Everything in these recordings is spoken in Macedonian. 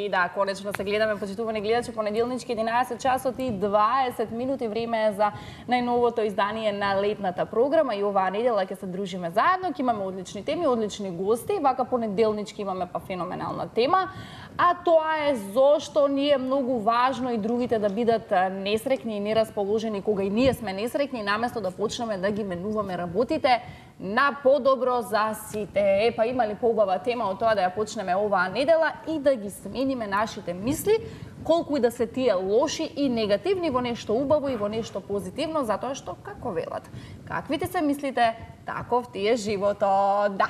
И да, конечно се гледаме, почитувани гледачи, понеделнички 11 часот и 20 минути, време е за најновото издание на летната програма и оваа недела ќе се дружиме заедно, ќе имаме одлични теми, одлични гости, вака понеделнички имаме па феноменална тема, а тоа е зошто ни е многу важно и другите да бидат несрекни и нерасположени кога и ние сме несрекни, наместо да почнеме да ги менуваме работите на подобро за сите. Па има ли поубава тема од тоа да ја почнеме оваа недела и да ги смениме нашите мисли, колку и да се тие лоши и негативни, во нешто убаво и во нешто позитивно, затоа што, како велат, каквите се мислите, таков ти е животот. Да.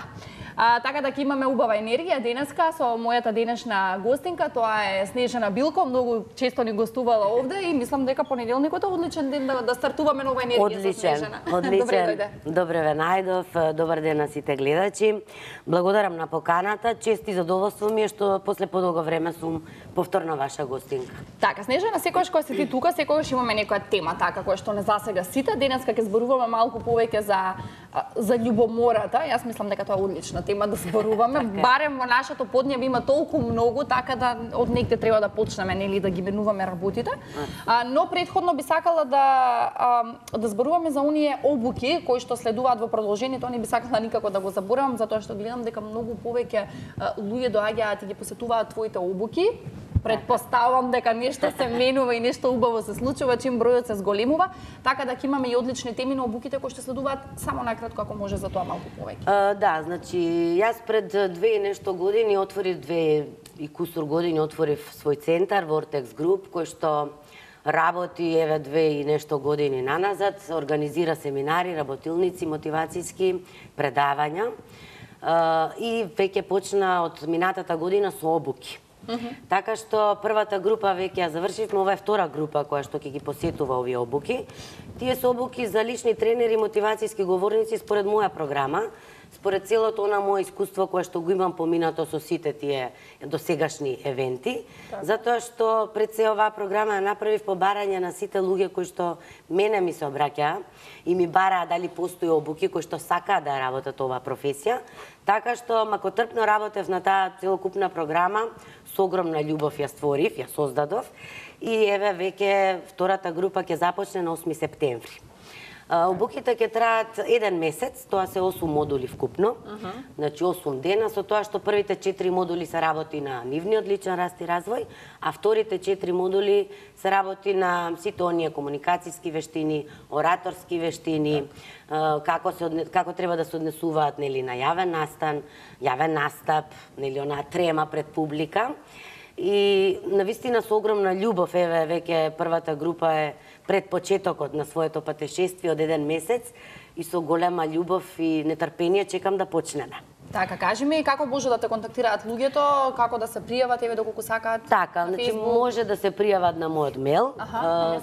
Така да ќе имаме убава енергија денеска со мојата денешна гостинка, тоа е Снежана Билко, многу често ни гостувала овде и мислам дека понеделникот е одличен ден да стартуваме нова енергија со Снежана. Одличен. Добре ве најдов, добар ден на сите гледачи. Благодарам на поканата, чест и задоволство ми е што после подолго време сум повторно ваша гостинка. Така, Снежана, секогаш кога си ти тука, секогаш имаме некоја тема така која што не засега сите. Денеска ќе зборуваме малку повеќе за љубомората. Јас мислам дека тоа е одлична тема да зборуваме. Барем во нашето поднебе има толку многу, така да од негде треба да почнеме, нели, да ги менуваме работите. Но претходно би сакала да зборуваме за оние обуки кои што следуваат во продолжението. Не би сакала никако да го заборавам, затоа што гледам дека многу повеќе луѓе доаѓаат и ги посетуваат твоите обуки. Предпоставам дека нешто се менува и нешто убаво се случува чим бројот се зголемува, така да ќе имаме и одлични теми на обуките кои што следуваат. Само накратко, ако може, за тоа малку повеќе. Да, значи јас пред 2 и нешто години отворив 2 и кусур години отворив свој центар Vortex Group, кој што работи еве 2 и нешто години наназад, организира семинари, работилници, мотивацијски предавања и веќе почна од минатата година со обуки. Така што првата група веќе ја завршивме, ова е втора група која што ќе ги посетува овие обуки. Тие се обуки за лични тренери, мотивацијски говорници според моја програма, според целото она мое искуство кое што го имам поминато со сите тие досегашни евенти, затоа што пред се оваа програма ја направив по барање на сите луѓе кои што мене ми се обраќаа и ми бараа дали постои обуки кои што сакаат да работат оваа професија, така што макотрпно работев на таа целокупна програма, со огромна љубов ја створив, ја создадов и еве веќе втората група ќе започне на 8 септември. Обуките ќе траат 1 месец, тоа се 8 модули вкупно, значи 8 дена, со тоа што првите 4 модули се работи на нивниот личен раст и развој, а вторите 4 модули се работи на сите оние комуникацијски вештини, ораторски вештини, како треба да се однесуваат, нели, на јавен настап, нели, онаа трема пред публика. И навистина со огромна љубов, еве веќе првата група е пред почетокот на своето патешествие од 1 месец и со голема љубов и нетрпение чекам да почнеме. Така, кажи ми како може да те контактираат луѓето, како да се пријават, еве доколку сакаат. Така, значи може да се пријават на мојот мејл.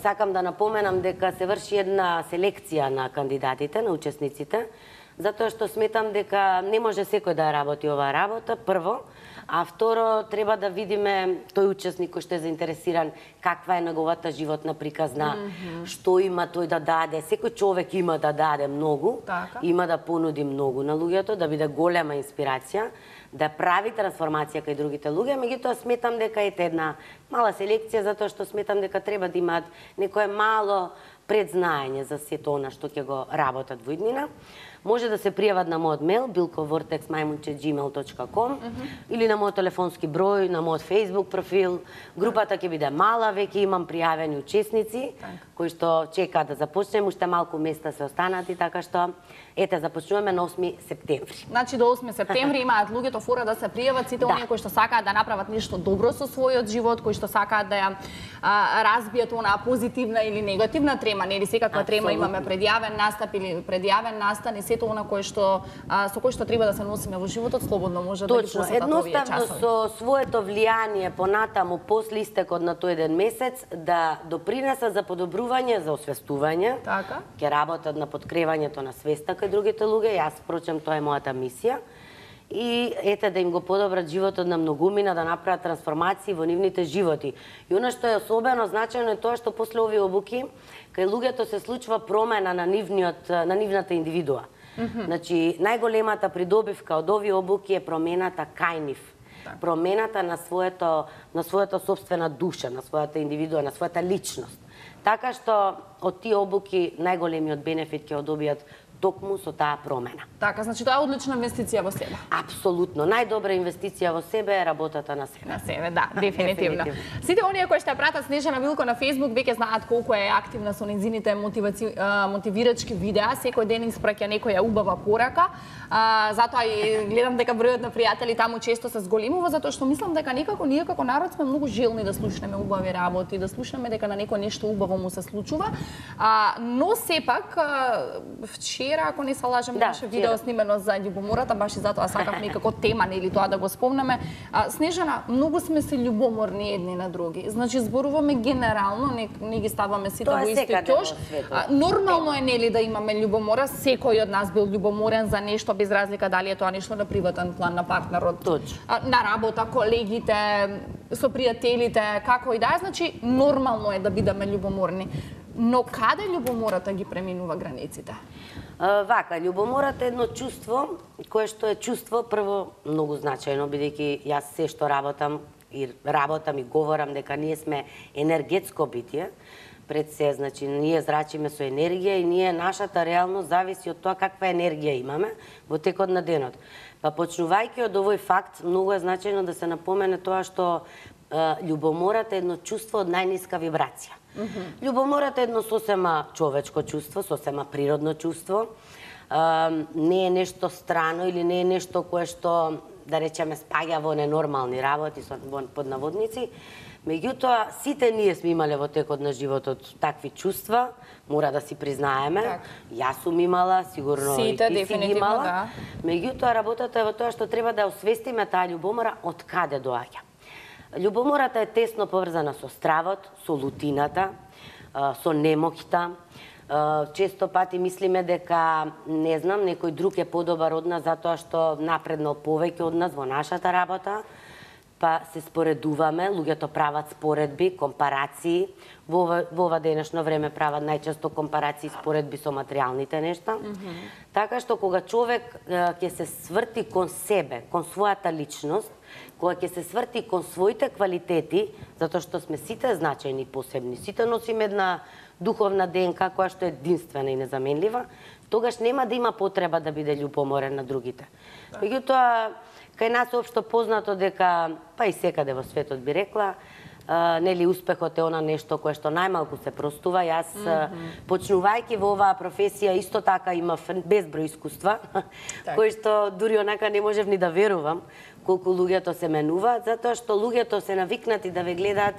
Сакам да напоменам дека се врши една селекција на кандидатите, на учесниците, затоа што сметам дека не може секој да работи оваа работа, прво, а второ, треба да видиме тој учесник кој што е заинтересиран, каква е неговата животна приказна, што има тој да даде. Секој човек има да даде многу, има да понуди многу на луѓето, да биде голема инспирација, да прави трансформација кај другите луѓе, меѓутоа сметам дека е една мала селекција, затоа што сметам дека треба да имаат некое мало предзнаење за сето она што ќе го работат во иднина. Може да се пријават на мојот мејл bilkovortex@gmail.com или на мојот телефонски број, на мојот Facebook профил. Групата ќе биде мала, веќе имам пријавени учесници кои што чекаат да започнеме, уште малку места се останати, така што ете започнуваме на 8 септември. Значи до 8 септември имаат луѓето фора да се пријават сите оние кои што сакаат да направат нешто добро со својот живот, кои што сакаат да ја разбијат онаа позитивна или негативна трема, нели секаква трема имаме предјавен настап или предјавен настан и сето она кое што со кој што треба да се носиме во животот, слободно може да ги посетат овие часови. Едноставно со своето влијание понатаму после истекот на тој 1 месец да допринесат за подобрување, за освестување. Така. Ќе работат на подкревањето на свеста кај другите луѓе, јас впрочем тоа е мојата мисија. И ете да им го подобрат животот на многумина, да направат трансформации во нивните животи. И она што е особено значајно е тоа што после овие обуки кај луѓето се случува промена на нивната индивидуа. Значи, најголемата придобивка од овие обуки е промената кај нив. промената на својата собствена душа, на својата индивидуа, на својата личност. Така што од тие обуки најголемиот бенефит ќе го добијат токму со таа промена. Така, значи тоа е одлична инвестиција во себе. Апсолутно, најдобра инвестиција во себе е работата на себе. На себе, да, дефинитивно. Сите оние кои што ја пратат Снежана Билко на Facebook веќе знаат колку е активна со незините мотивирачки видеа, секој ден испраќа некоја убава порака. Затоа и гледам дека бројот на пријатели таму често се зголемува, затоа што мислам дека некако ние како народ сме многу желни да слушнеме убави работи, да слушнеме дека на некој нешто убаво му се случува. Но сепак вчера, ако не се лажам, имаше видео снимено за љубомората, баш и затоа сакав некако тема нели тоа да го спомнеме. Снежана, многу сме се љубоморни едни на други. Значи зборуваме генерално, не ги ставаме сите во исти ќош. Нормално е нели да имаме љубомора, секој од нас бил љубоморен за нешто без разлика дали е тоа нешто на приватен план, на партнерот, на работа, колегите, со пријателите, како и да е, значи нормално е да бидеме љубоморни. Но каде љубомората ги преминува границите? Вака, љубомората е едно чувство кое што е чувство прво многу значајно, бидејќи јас се што работам и говорам дека ние сме енергетско битие. Пред се, значи, ние зрачиме со енергија и ние нашата реалност зависи од тоа каква енергија имаме во текот на денот. Па почнувајќи од овој факт, многу е значајно да се напомене тоа што љубомората е едно чувство од најниска вибрација. Љубомората е едно сосема човечко чувство, сосема природно чувство. Не е нешто страно или не е нешто кое што, да речеме, спаѓа во ненормални работи, под наводници. Меѓутоа, сите ние сме имале во текот на животот такви чувства, мора да си признаеме. Јас сум имала, сигурно и ти си имала. Меѓутоа, работата е во тоа што треба да освестиме таа љубомора од каде доаѓа. Љубомората е тесно поврзана со стравот, со лутината, со немоќта. Често пати мислиме дека, не знам, некој друг е подобар од нас затоа што напреднал повеќе од нас во нашата работа, па се споредуваме, луѓето прават споредби, компарации. Во ова денешно време прават најчесто компарации, споредби со материјалните нешта. Така што кога човек ќе се сврти кон себе, кон својата личност, кога ќе се сврти кон своите квалитети, затоа што сме сите значајни и посебни, сите носиме една духовна ДНК која што е единствена и незаменлива, тогаш нема да има потреба да биде љубоморен на другите. Меѓутоа, кај нас општо познато дека, па и секаде во светот би рекла, нели успехот е она нешто кое што најмалку се простува. Јас, почнувајќи во оваа професија, исто така имав безброј искуства, кои што дури онака не можев ни да верувам колку луѓето се менуваат, затоа што луѓето се навикнати да ве гледаат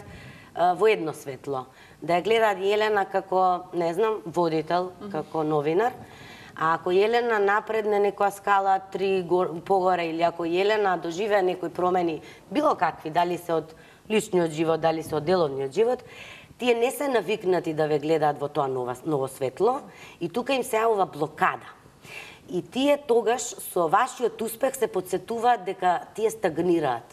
во едно светло. Да ја гледаат Јелена како, не знам, водител, како новинар, а ако Јелена напредне некоја скала 3 погоре или ако Јелена доживее некои промени, било какви, дали се од личниот живот, дали се од деловниот живот, тие не се навикнати да ве гледаат во тоа ново светло и тука им се јавува блокада. И тие тогаш со вашиот успех се потсетуваат дека тие стагнираат.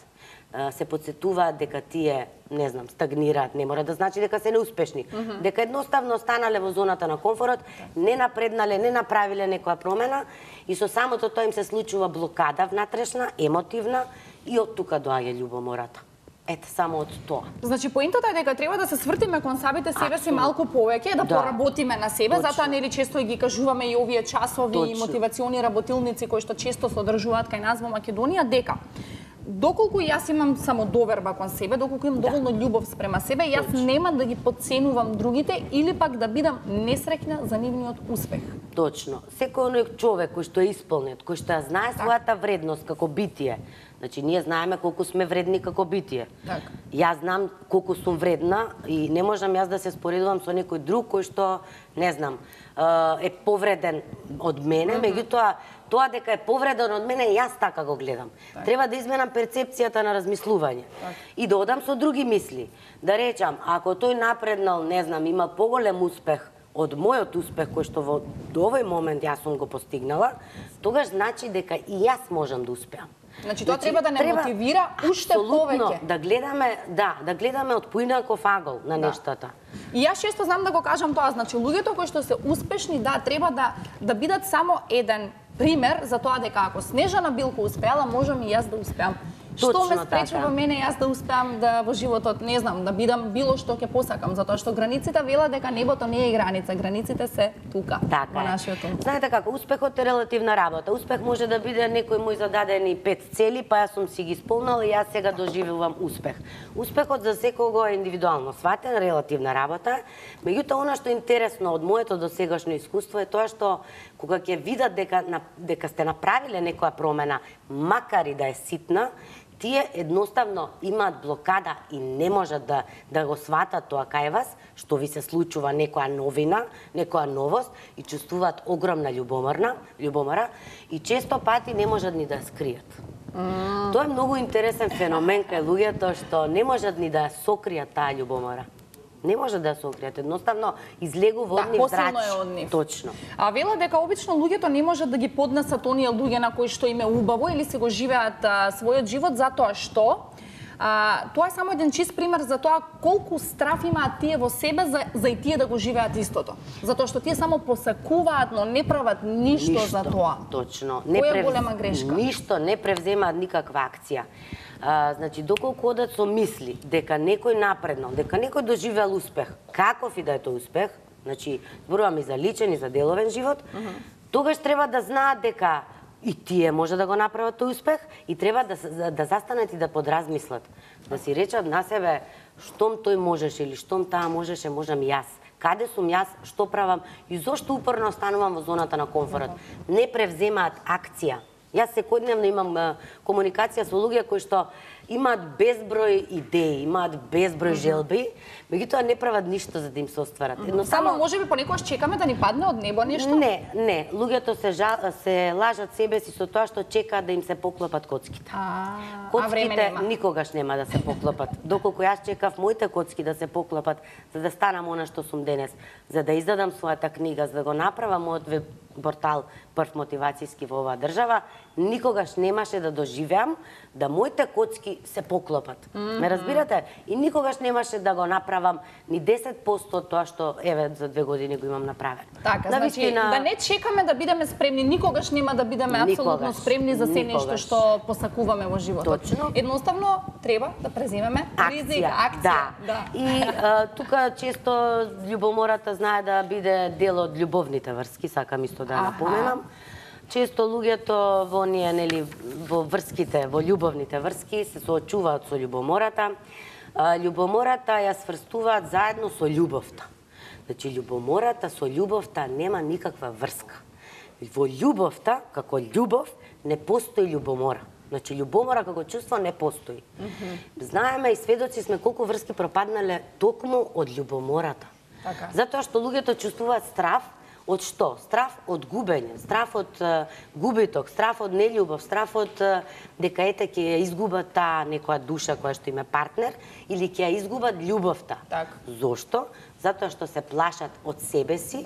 Се потсетуваат дека тие, не знам, стагнираат, не мора да значи дека се неуспешни. Дека едноставно останале во зоната на комфорот, не напреднале, не направиле некоја промена и со самото тоа им се случува блокада внатрешна, емотивна и од тука доаѓа љубомората. Ете, само од тоа. Значи, поентата е дека треба да се свртиме кон самите себе си малку повеќе, да поработиме на себе, затоа нели често ги кажуваме и овие часови и мотивациони работилници кои што често се одржуваат кај нас во Македонија, дека доколку јас имам само доверба кон себе, доколку имам доволно љубов спрема себе, јас нема да ги потценувам другите или пак да бидам несреќна за нивниот успех. Точно. Секој оној човек кој што е исполнет, кој што ја знае својата вредност како битие, значи ние знаеме колку сме вредни како битие. Јас знам колку сум вредна и не можам јас да се споредувам со некој друг кој што, не знам, е повреден од мене, меѓутоа тоа дека е повреден од мене, јас така го гледам. Треба да изменам перцепцијата на размислување и да одам со други мисли. Да речам, ако тој напреднал, не знам, има поголем успех од мојот успех кој што до овој момент јас сум го постигнала, тогаш значи дека и јас можам да успеам. Значи тоа треба да не мотивира уште повеќе. Да гледаме од поинаков агол на нештата. И јас често знам да го кажам тоа, значи луѓето кои што се успешни, треба да бидат само еден пример за тоа дека ако Снежана Билко успеала, можам и јас да успеам. Што ме Точно спречува така. мене јас да успеам да во животот, не знам, да бидам било што ќе посакам, затоа што границите велат дека небото не е граница, границите се тука, Така во е. нашиот ум. Знаете како, успехот е релативна работа. Успех може да биде некој мој зададени 5 цели, па јас сум си ги исполнала и јас сега доживувам успех. Успехот за секого е индивидуално сватен, релативна работа. Меѓутоа, она што е интересно од моето досегашно искуство е тоа што кога ќе видат дека сте направиле некоја промена, макар и да е ситна, тие едноставно имаат блокада и не можат да го сватат тоа кај вас, што ви се случува некоја новина, некоја новост и чувствуваат огромна љубомора и често пати не можат ни да ја скријат. Тоа е многу интересен феномен кај луѓето што не можат ни да ја сокријат таа љубомора. Не може да ја сокријат, едноставно излегува од нив посилно зрач. е од нив. Точно. А велат дека обично луѓето не можат да ги поднесат оние луѓе на кои што им е убаво или се го живеат својот живот затоа што тоа е само еден чист пример за тоа колку страф имаат тие во себе за и тие да го живеат истото. Затоа што тие само посакуваат, но не прават ништо за тоа. Точно. Која е голема грешка? Ништо, не превземаат никаква акција. Значи, доколку одат со мисли дека некој напредно, дека некој доживеал успех, каков и да е тој успех, значи, зборувам и за личен и за деловен живот, тогаш треба да знаат дека и тие може да го направат тој успех и треба да застанат и да подразмислат. Да си речат на себе, штом тој можеше или штом таа можеше, можам и јас. Каде сум јас, што правам и зошто упорно останувам во зоната на комфорот. Не превземаат акција. Јас секојдневно имам комуникација со луѓе кои што имаат безброј идеи, имаат безброј желби, меѓутоа не прават ништо за да им се остварат. Само можеби понекогаш чекаме да ни падне од небо нешто? Не, луѓето се лажат себе си со тоа што чекаат да им се поклопат коцките. Коцките никогаш нема да се поклопат. Доколку јас чекав моите коцки да се поклопат за да станам она што сум денес, за да издадам својата книга, за да го направам мојот веб портал прв мотивацијски во оваа држава, никогаш немаше да доживеам да моите коцки се поклопат. Ме разбирате? И никогаш немаше да го направам ни 10% од тоа што еве за 2 години го имам направено. Така, значи да не чекаме да бидеме спремни, никогаш нема да бидеме апсолутно спремни за се нешто што посакуваме во животот. Точно. Едноставно треба да преземеме ризик, акција. Да. И тука често љубомората знае да биде дел од љубовните врски, сакам исто да напоменам. Често луѓето во оние, нели, во врските, во љубовните врски се соочуваат со љубомората. Љубомората ја сврстуваат заедно со љубовта. Значи, љубомората со љубовта нема никаква врска. Во љубовта, како љубов, не постои љубомора. Значи, љубомора како чувство не постои. Знаеме и сведоци сме колку врски пропаднале токму од љубомората. Затоа што луѓето чувствуваат страф. Од што? Страф од губење, страф од губиток, страф од нељубов, страф од дека ете ќе ја изгубат таа некоја душа која што им е партнер или ќе ја изгубат љубовта. Зошто? Затоа што се плашат од себе си.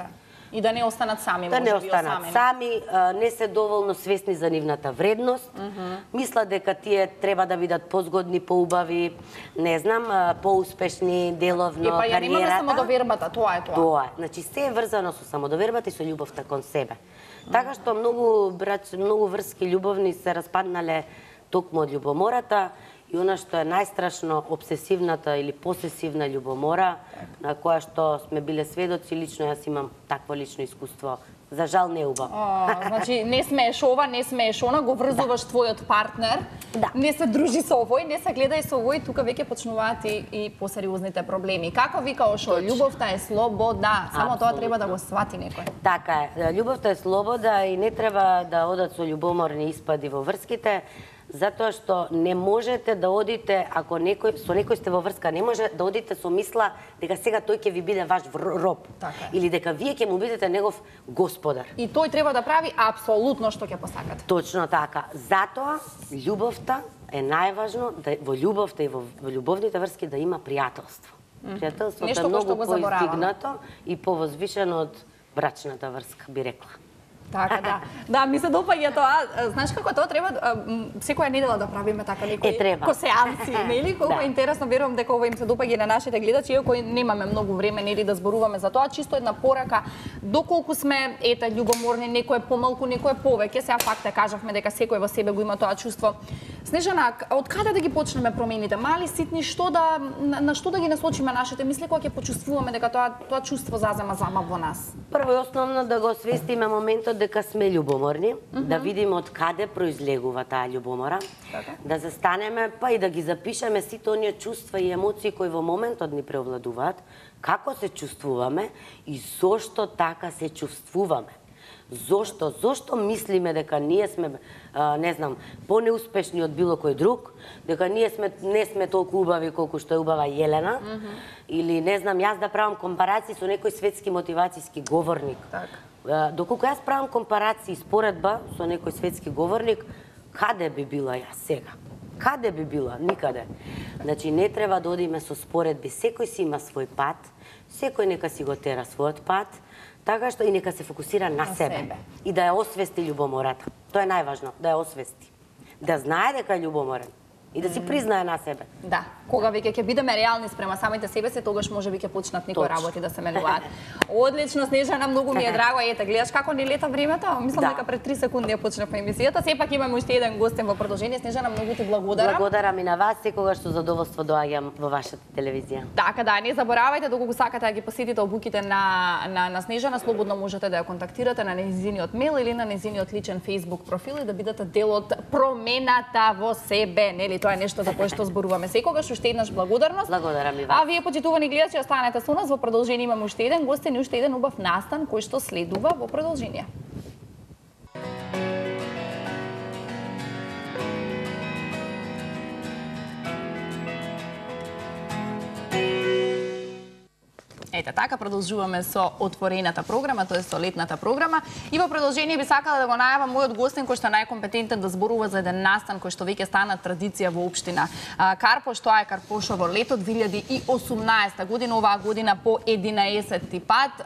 И да не останат сами, да не останат сами, не се доволно свесни за нивната вредност, мислат дека тие треба да бидат позгодни, поубави, не знам, поуспешни деловно, кариерата. Ја немаме самодовербата, тоа е тоа. Тоа е. Значи, се е врзано со самодовербата и со љубовта кон себе. Така што многу врски љубовни се распаднале токму од љубомората. И она што е најстрашно, обсесивната или посесивна љубомора, на која што сме биле сведоци, лично јас имам такво лично искуство. За жал не убаво. Значи, не смееш ова, не смееш она, го врзуваш твојот партнер, не се дружи со овој, не се гледај со овој, тука веќе почнуваат и посериозните проблеми. Како вика Ошо, љубовта е слобода, само тоа треба да го свати некој. Така е, љубовта е слобода и не треба да одат со љубоморни испади во врските, затоа што не можете да одите, ако со некој сте во врска, не може да одите со мисла дека сега тој ќе ви биде ваш роб. Или дека вие ќе му бидете негов господар. И тој треба да прави апсолутно што ќе посакате. Точно така. Затоа, љубовта е најважно, во љубовта и во љубовните врски да има пријателство. Пријателството е многу поиздигнато и повозвишено од брачната врска, би рекла. Така, да. Да, ми се допаѓа тоа. Знаеш како тоа треба секоја недела да правиме така некои сеанси, нели? Колку е интересно, верувам дека ова им се допаѓа на нашите гледачи, иако немаме многу време нели да зборуваме за тоа, чисто една порака, доколку сме љубоморни, некој е помалку, некој е повеќе, сега факт кажавме дека секој во себе го има тоа чувство. Снежана, од каде да ги почнеме промените? Мали, ситни, на што да ги насочиме нашите мисли кога ќе почувствуваме дека тоа чувство зазема замав во нас? Прво и основно да го освестиме моментот дека сме љубоморни, да видиме од каде произлегува таа љубомора, да застанеме, па и да ги запишеме сите оние чувства и емоции кои во моментот ни преовладуваат, како се чувствуваме и зошто така се чувствуваме. Зошто мислиме дека ние сме, не знам, понеуспешни од било кој друг, дека ние не сме толку убави колку што е убава Јелена, или не знам, јас да правам компарации со некој светски мотивацијски говорник. Доколку јас правам компарации споредба со некој светски говорник, каде би била јас сега? Каде би била? Никаде. Значи, не треба да одиме со споредби. Секој си има свој пат, секој нека си го тера својот пат, така што и нека се фокусира на себе. И да ја освести љубомората. Тоа е најважно, да ја освести. Да знае дека е љубоморен и да си признае на себе. Да, кога веќе ќе бидеме реални спрема самите себе си, тогаш можеби ќе почнат некои работи да се менуваат. Одлично, Снежана, многу ми е драго. Ете, гледаш како ни лета времето? Мислам дека пред 3 секунди ја почнавме емисијата. Сепак имаме уште еден гостен во продолжение. Снежана, многу ти благодарам. Благодарам и на вас, секогаш со задоволство доаѓам во вашата телевизија. Така да, не заборавајте, доколку сакате да ги посетите обуките на Снежана, слободно можете да ја контактирате на нејзиниот мејл или на нејзиниот личен Facebook профил и да бидете дел од промената во себе, нели? Тоа е нешто за кое што зборуваме секогаш. Уште еднаш благодарност. Благодарам и вас. А вие, почитувани гледачи, останете со нас. Во продолжение имаме уште еден гостен и уште еден убав настан кој што следува во продолжение. Ете така, продолжуваме со отворената програма, тоа е со летната програма. И во продолжение би сакала да го најавам мојот гостин кој што е најкомпетентен да зборува за еден настан кој што веќе стана традиција во општина Карпош. Тоа е Карпошово лето 2018 година, оваа година по 11-ти пат.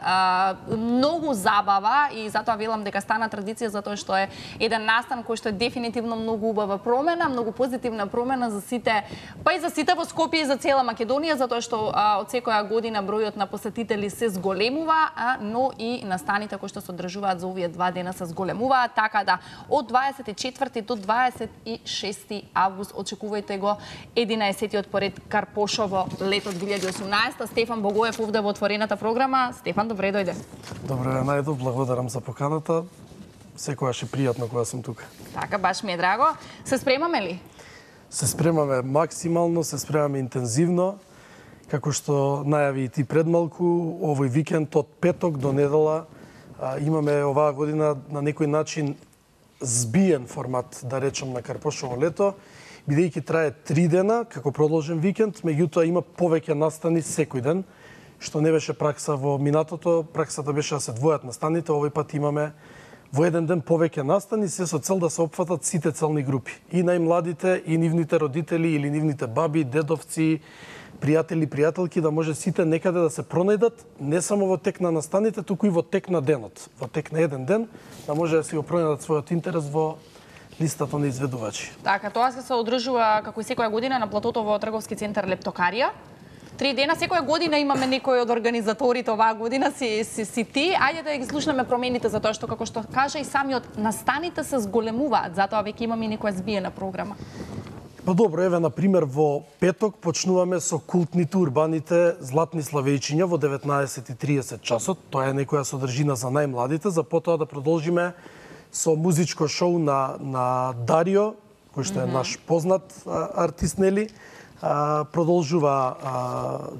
Многу забава и затоа велам дека стана традиција затоа што е еден настан кој што е дефинитивно многу убава промена, многу позитивна промена за сите, па и за сите во Скопје и за цела Македонија, затоа што од секоја година бројот на посетители се зголемува, но и настаните кои што се одржуваат за овие 2 дена се зголемуваат, така да од 24 до 26 август очекувајте го 11-тиот поред Карпошово лето 2018. Стефан Богоев овде во отворената програма. Стефан, добре дојде. Добре, најдов, благодарам за поканата. Секогаш е пријатно кога сум тука. Така, баш ми е драго. Се спремаме ли? Се спремаме максимално, се спремаме интензивно. Како што најави и ти пред малку, овој викенд од петок до недела имаме оваа година на некој начин збиен формат, да речем, на Карпошово лето, бидејќи трае 3 дена како продолжен викенд, меѓутоа има повеќе настани секој ден, што не беше пракса во минатото. Праксата беше да се двојат настаните, овој пат имаме во еден ден повеќе настани, се со цел да се опфатат сите целни групи. И најмладите, и нивните родители, или нивните баби, дедовци, пријатели, пријателки, да може сите некаде да се пронајдат, не само во тек на настаните, туку и во тек на денот. Во тек на еден ден, да може да си го пронајдат својот интерес во листата на изведувачи. Така, тоа се одржува како и секоја година на платото во трговски центар Лептокарија. 3 дена, секоја година имаме некој од организаторите, оваа година си ти. Ајде да ги слушнеме промените, затоа што, како што кажа и самиот, настаните се зголемуваат, затоа веќе имаме некоја збиена програма. Па добро, еве, например, во петок почнуваме со култните урбаните Златни Славејчиња во 19:30 часот. Тоа е некоја содржина за најмладите, за потоа да продолжиме со музичко шоу на Дарио, кој што е наш познат артист, нели? Продолжува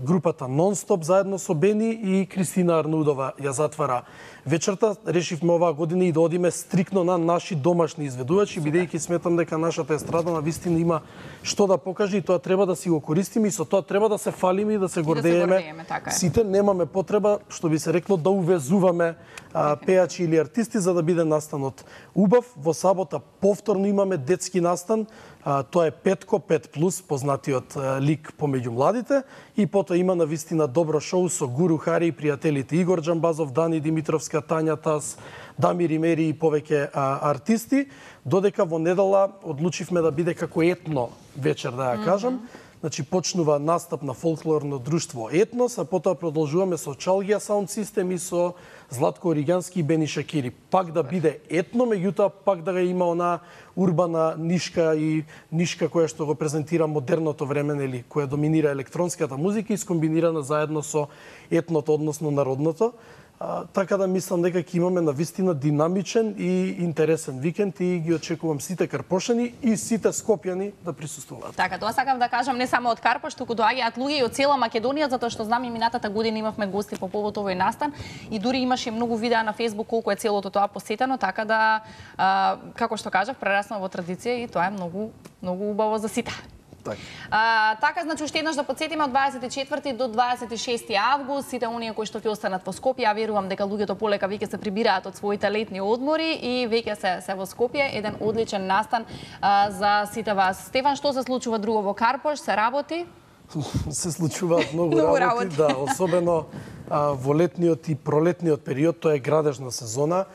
групата Нонстоп заедно со Бени и Кристина Арнудова ја затвара вечерта. Решивме оваа година и да одиме стрикно на наши домашни изведувачи, бидејќи сметам дека нашата естрада на вистина има што да покаже и тоа треба да си го користиме и со тоа треба да се фалиме и да се гордееме. Сите немаме потреба, што би се рекло, да увезуваме пејачи или артисти за да биде настанот убав. Во сабота повторно имаме детски настан. Тоа е Петко, 5+, познатиот лик помеѓу младите, и потоа има навистина добро шоу со Гуру Хари и пријателите Игор Џамбазов, Дани Димитровска, Тања Тас, Дамир Имери и повеќе артисти, додека во недела одлучивме да биде како етно вечер, да ја кажам. Значи почнува настап на фолклорно друштво Етнос, а потоа продолжуваме со Чалгија Саунд Систем и со Златко Оригански и Бени Шакири. Пак да биде етно, меѓутоа пак да ga има она урбана нишка и нишка која што го презентира модерното време, нели, која доминира електронската музика и скомбинирана заедно со етното, односно народното. Така да мислам дека ќе имаме навистина динамичен и интересен викенд и ги очекувам сите карпошани и сите скопјани да присуствуваат. Така, тоа сакам да кажам, не само од Карпош, туку доаѓаат луѓе и од цела Македонија, затоа што знам и минатата година имавме гости по повод овој настан и дури имаше многу видеа на Facebook колку е целото тоа посетено, така да како што кажав, прерасна во традиција и тоа е многу убаво за сите. Така, значи, уште еднаш да подсетиме од 24 до 26 август, сите оние кои што ќе останат во Скопје, ја верувам дека луѓето полека веќе се прибираат од своите летни одмори и веќе се во Скопје, еден одличен настан за сите вас. Стефан, што се случува друго во Карпош? Се работи? Се случуваат многу работи, да, особено во летниот и пролетниот период, тоа е градежна сезона.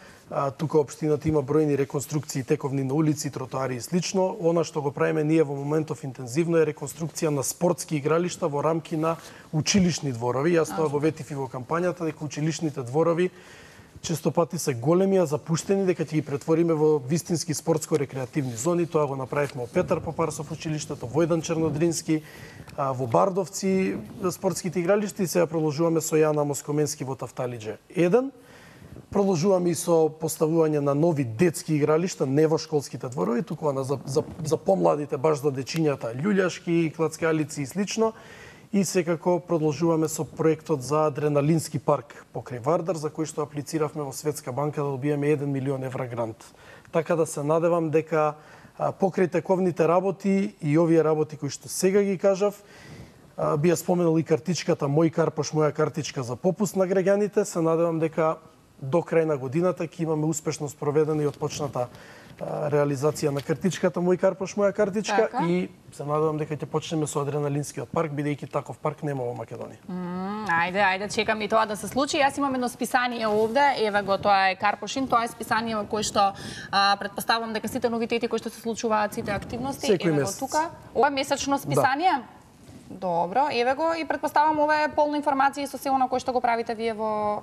Тука општината има бројни реконструкции, тековни на улици, тротоари и слично. Она што го правиме ние во моментов интензивно е реконструкција на спортски игралишта во рамки на училишни дворови. Јас тоа го ветив и во кампањата, дека училишните дворови често пати се големи, а запуштени, дека ќе ги претвориме во вистински спортско-рекреативни зони. Тоа го направивме во Петар Попарсов училиштето, во Војдан Чернодрински, во Бардовци спортските игралишта и сега продолжуваме со Јана Москоменски во Тафталиџе 1. Продолжуваме и со поставување на нови детски игралишта, не во школските дворови, туку за помладите, баш за дечињата, љуљашки, клацкалици и слично. И секако продолжуваме со проектот за адреналински парк покрај Вардар, за кој што аплициравме во Светска банка да добиеме 1 милион евра грант. Така да се надевам дека покрај тековните работи и овие работи кои што сега ги кажав, би ја споменал и картичката Мој Карпош, моја картичка за попуст на граѓаните, се надевам дека до крај на годината ќе имаме успешно спроведена и отпочната реализација на картичката Мој Карпош, моја картичка и се надевам дека ќе почнеме со адреналинскиот парк, бидејќи таков парк нема во Македонија. Ајде, чекам и тоа да се случи. Јас имам едно списание овде, еве го, тоа е Карпошин, тоа е списание во кое што претпоставувам дека сите новитети кои што се случуваат, сите активности, еве го тука. Ова е месечно списание? Да. Добро, еве го и претпоставам ова е полна информација со се она кое што го правите вие во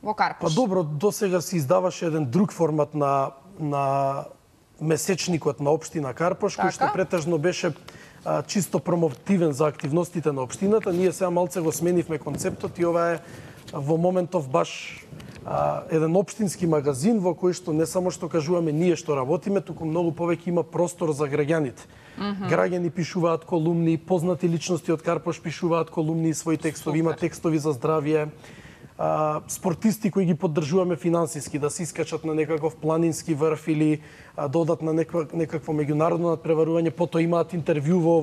Карпош. Па добро, досега се издаваше еден друг формат на месечникот на општина Карпош, кој што претежно беше чисто промотивен за активностите на општината. Ние сега малце го сменивме концептот и ова е во моментов баш еден општински магазин во кој што не само што кажуваме ние што работиме, туку многу повеќе има простор за граѓаните. Граѓани пишуваат колумни, познати личности од Карпош пишуваат колумни и своји текстови, има текстови за здравје. Спортисти кои ги поддржуваме финансиски, да се искачат на некаков планински врв или да одат на некакво меѓународно надпреварување, потоа имаат интервју во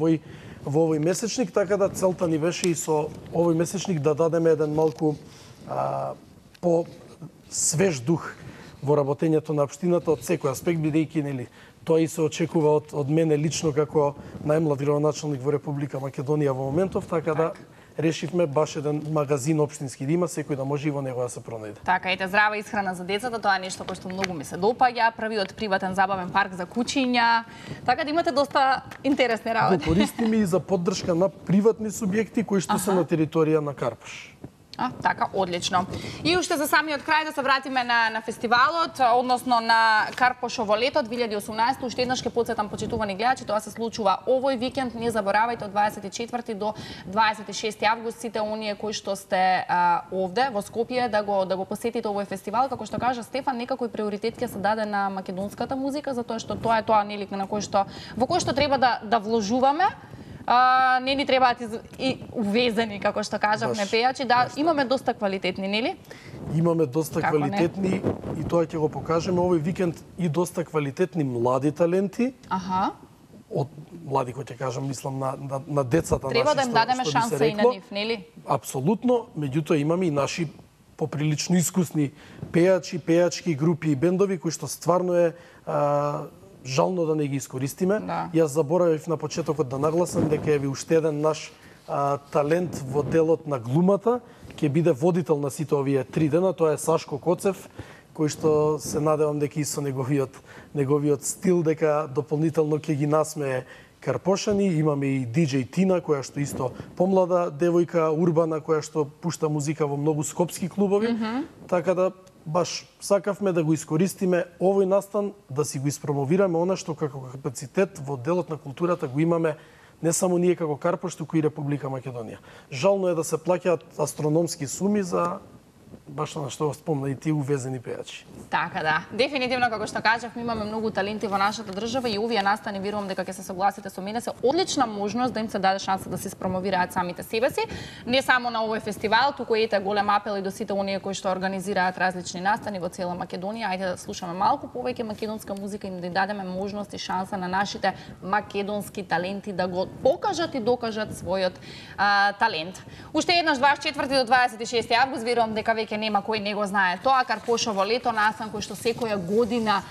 овој месечник, така да целта ни беше и со овој месечник да дадеме еден малку по свеж дух во работењето на општината од секој аспект, бидејќи нели тоа и се очекува од мене лично како најмлад градоначалник во Република Македонија во моментов, така да решивме баш еден магазин општински да има, секој да може и во него да се пронајде. Така, ете, здрава исхрана за децата, тоа е нешто кое што многу ми се допаѓа, првиот приватен забавен парк за кучиња, така да имате доста интересни работи. Го користиме и за поддршка на приватни субјекти кои што се на територија на Карпош. Така, одлично. И уште за самиот крај да се вратиме на фестивалот, односно на Карпошово лето 2018. Уште еднаш ќе потсетам почитувани гледачи, тоа се случува овој викенд. Не заборавајте од 24 до 26 август сите оние кои што сте овде во Скопје да го посетите овој фестивал. Како што кажа Стефан, некако и приоритет ќе се даде на македонската музика, затоа што тоа е тоа нели на во кој што треба да вложуваме. Не ни требаат и увезени, како што кажавме, пејачи, да имаме доста квалитетни, нели? Имаме доста квалитетни и тоа ќе го покажеме овој викенд и доста квалитетни млади таленти. Од млади, кој ќе кажам, мислам на децата наши. Треба да им дадеме шанса и на нив, нели? Апсолутно, меѓутоа имаме и наши поприлично искусни пејачи, пејачки групи и бендови кои што стварно е жално да не ги искористиме. Јас заборавив на почетокот да нагласам дека е уште еден наш талент во делот на глумата, ќе биде водител на сите овие 3 дена, тоа е Сашко Коцев, кој што се надевам дека и со неговиот стил дека дополнително ќе ги насмее Карпошани, имаме и DJ Тина, која што исто помлада девојка, урбана, која што пушта музика во многу скопски клубови. Така да баш сакавме да го искористиме овој настан, да си го испромовираме она што како капацитет во делот на културата го имаме не само ние како Карпош, туку и Република Македонија. Жално е да се плаќаат астрономски суми за баш на што спомна и тие увезени пејачи. Така да. Дефинитивно, како што кажав, имаме многу таленти во нашата држава и овие настани, верувам дека ќе се согласите со мене, се одлична можност да им се даде шанса да се спромовираат самите себе си. Не само на овој фестивал, туку ете голем апел и до сите оние кои што организираат различни настани во цела Македонија. Ајде да слушаме малку повеќе македонска музика и да дадеме можност и шанса на нашите македонски таленти да го покажат и докажат својот талент. Уште еднаш 24 до 26 август, верувам дека веќе нема кој не го знае тоа. Карпошово лето, настан кој што секоја година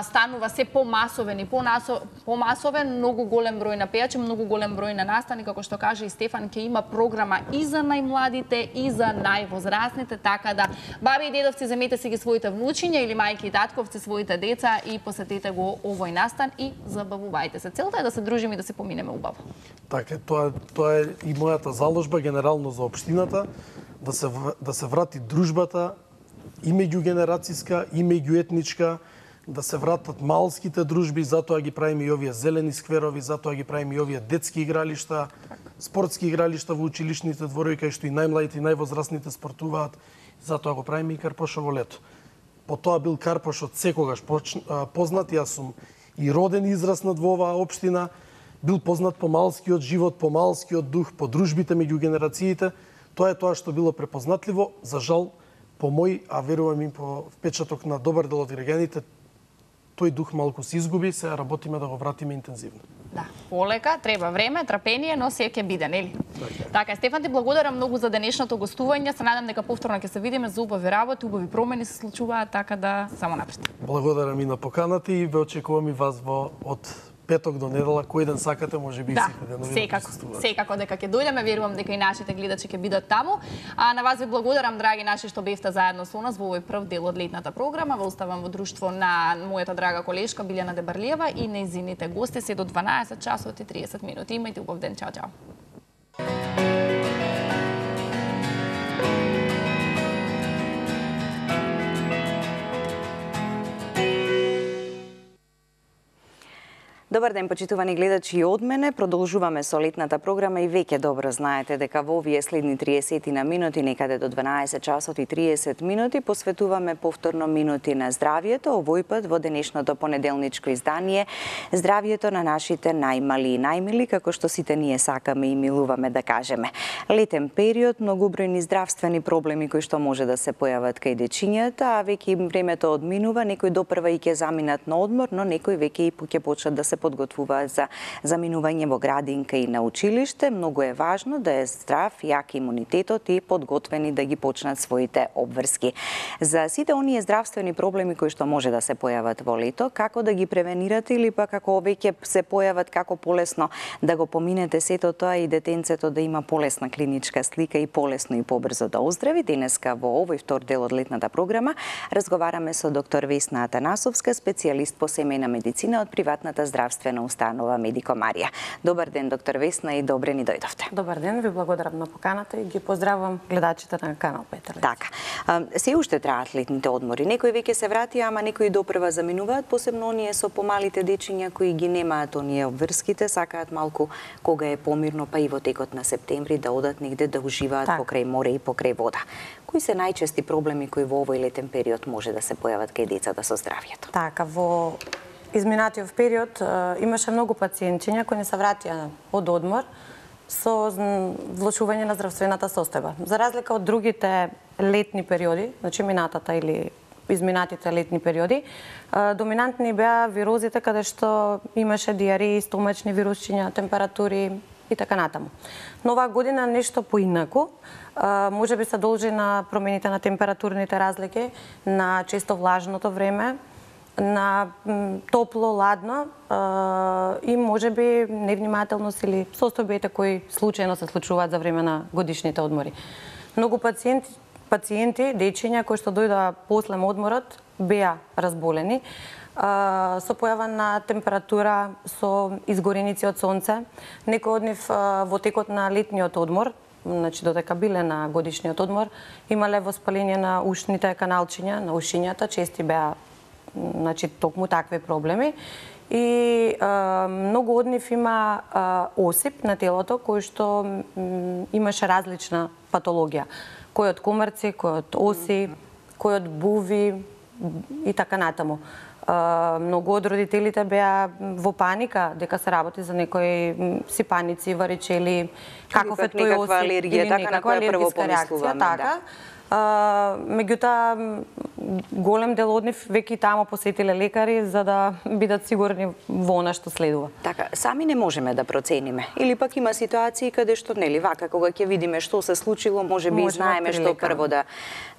станува се помасовен и помасовен, многу голем број на пејачи, многу голем број на настани, како што каже и Стефан, ќе има програма и за најмладите и за највозрасните, така да баби и дедовци земете си ги своите внучиња или мајки и татковци своите деца и посетете го овој настан и забавувајте се. Целта е да се дружиме и да се поминеме убаво. Така, тоа е и мојата заложба генерално за општината, да се врати дружбата и меѓугенерацијска, и меѓуетничка, да се вратат малските дружби, затоа ги правиме и овие зелени скверови, затоа ги правиме и овие детски игралишта, спортски игралишта во училишните дворови, кај што и најмладите и највозрасните спортуваат, затоа го правиме и Карпошово лето. По тоа бил Карпош од секогаш познат, јас сум и роден и израснат во оваа општина, бил познат по малскиот живот, по малскиот дух, по дружбите меѓу генерациите. Тоа е тоа што било препознатливо, за жал, по мој, а верувам и по впечаток на добар дел од граѓаните, тој дух малку се изгуби, сега работиме да го вратиме интензивно. Да, полека, треба време, трпение, но се ќе биде, нели? Така, Стефан, ти благодарам многу за денешното гостување. Се надам дека повторно ќе се видиме за убави работи, убави промени се случуваат, така да само напред. Благодарам и на поканата и ве очекувам и вас од петок до недела, кој ден сакате, може би и сите денови да присуствувате. Секако дека ќе дојдеме, верувам дека и нашите гледачи ќе бидат таму. А на вас ви благодарам, драги наши, што бевте заедно со нас во овој прв дел од летната програма. Ве оставам во друштво на мојата драга колешка Билјана Дебарлиева и нејзините гости се до 12 часот и 30 минути. Имајте убав ден, чао, чао. Добар ден, почитувани гледачи и од мене. Продолжуваме со летната програма и веќе добро знаете дека во овие следни 30 на минути, некаде до 12 часот и 30 минути, посветуваме повторно минути на здравието, овој пат во денешното понеделничко издание, здравието на нашите најмали и најмили, како што сите ние сакаме и милуваме да кажеме. Летен период, многобројни здравствени проблеми кои што може да се појават кај дечињата, а веќе им времето одминува, некои допрва и ќе заминат на одмор, но некои веќе и ќе почнат да се подготвуваат за заминување во градинка и на училиште. Многу е важно да е здрав, јак имунитетот и подготвени да ги почнат своите обврски. За сите оние здравствени проблеми кои што може да се појават во лето, како да ги превенирате или пак како веќе се појават, како полесно да го поминете сето тоа и детенцето да има полесна клиничка слика и полесно и побрзо да оздрави. Денеска во овој втор дел од летната програма разговараме со доктор Весна Атанасовска, специјалист по семејна медицина од приватната здравствена установа Медико Марија. Добар ден, доктор Весна, и добре ни дојдовте. Добар ден, ви благодарам на поканата и ги поздравувам гледачите на канал Петелец. Така. Се уште траат летните одмори. Некои веќе се врати, ама некои допрва заминуваат, посебно оние со помалите дечиња кои ги немаат оние обврските, сакаат малку кога е помирно, па и во текот на септември да одат негде да уживаат покрај море и покрај вода. Кои се најчести проблеми кои во овој летен период може да се појават кај децата со здравието? Така, во изминатиот период имаше многу пациентиња кои не се вратија од одмор со влошување на здравствената состојба. За разлика од другите летни периоди, значи минатата или изминатите летни периоди, доминантни беа вирозите каде што имаше диареи, стомачни вирусчиња, температури и така натаму. Но оваа година нешто поинаку, може би се должи на промените на температурните разлики, на често влажното време, на топло, ладно и може би невнимателност или состојбите кои случајно се случуваат за време на годишните одмори. Многу пациенти пациенти, дечиња кои што дојдоа после одморот беа разболени со појава на температура, со изгореници од сонце. Некои од нив во текот на летниот одмор, значи додека биле на годишниот одмор, имале воспаление на ушните каналчиња, на ушињата, чести беа значи токму такви проблеми. И многу од нив има осип на телото кој што имаше различна патологија. Кој од комарци, кој од оси, кој од буви и така натаму. Многу од родителите беа во паника дека се работи за некои сипаници, варичели, каков е тој осип, алергија, така на која прво помислуваме, така. Меѓутоа, голем дел од нив веќе тамо посетиле лекари за да бидат сигурни во она што следува. Така, сами не можеме да процениме. Или пак има ситуации каде што, нели, вака, кога ќе видиме што се случило, може би знаеме што прво да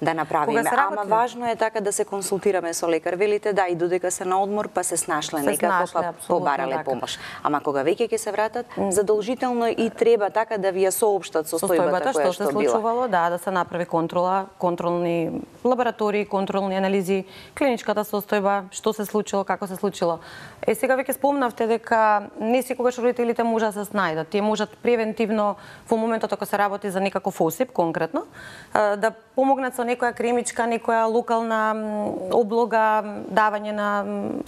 направиме. Ама важно е така да се консултираме со лекар. Велите да, и додека се на одмор, па се снашле некако, па побарале помош. Ама кога веќе ќе се вратат, задолжително и треба така да ви ја соопштат состојбата која што била. Што се случувало, да се направи контрола, контролни лаборатории, контролни анализи, клиничката состојба, што се случило, како се случило. Сега веќе спомнавте дека не секогаш родителите можат да се снајдат. Тие можат превентивно во моментот ако се работи за некаков осип конкретно, да помогнат со некоја кремичка, некоја локална облога, давање на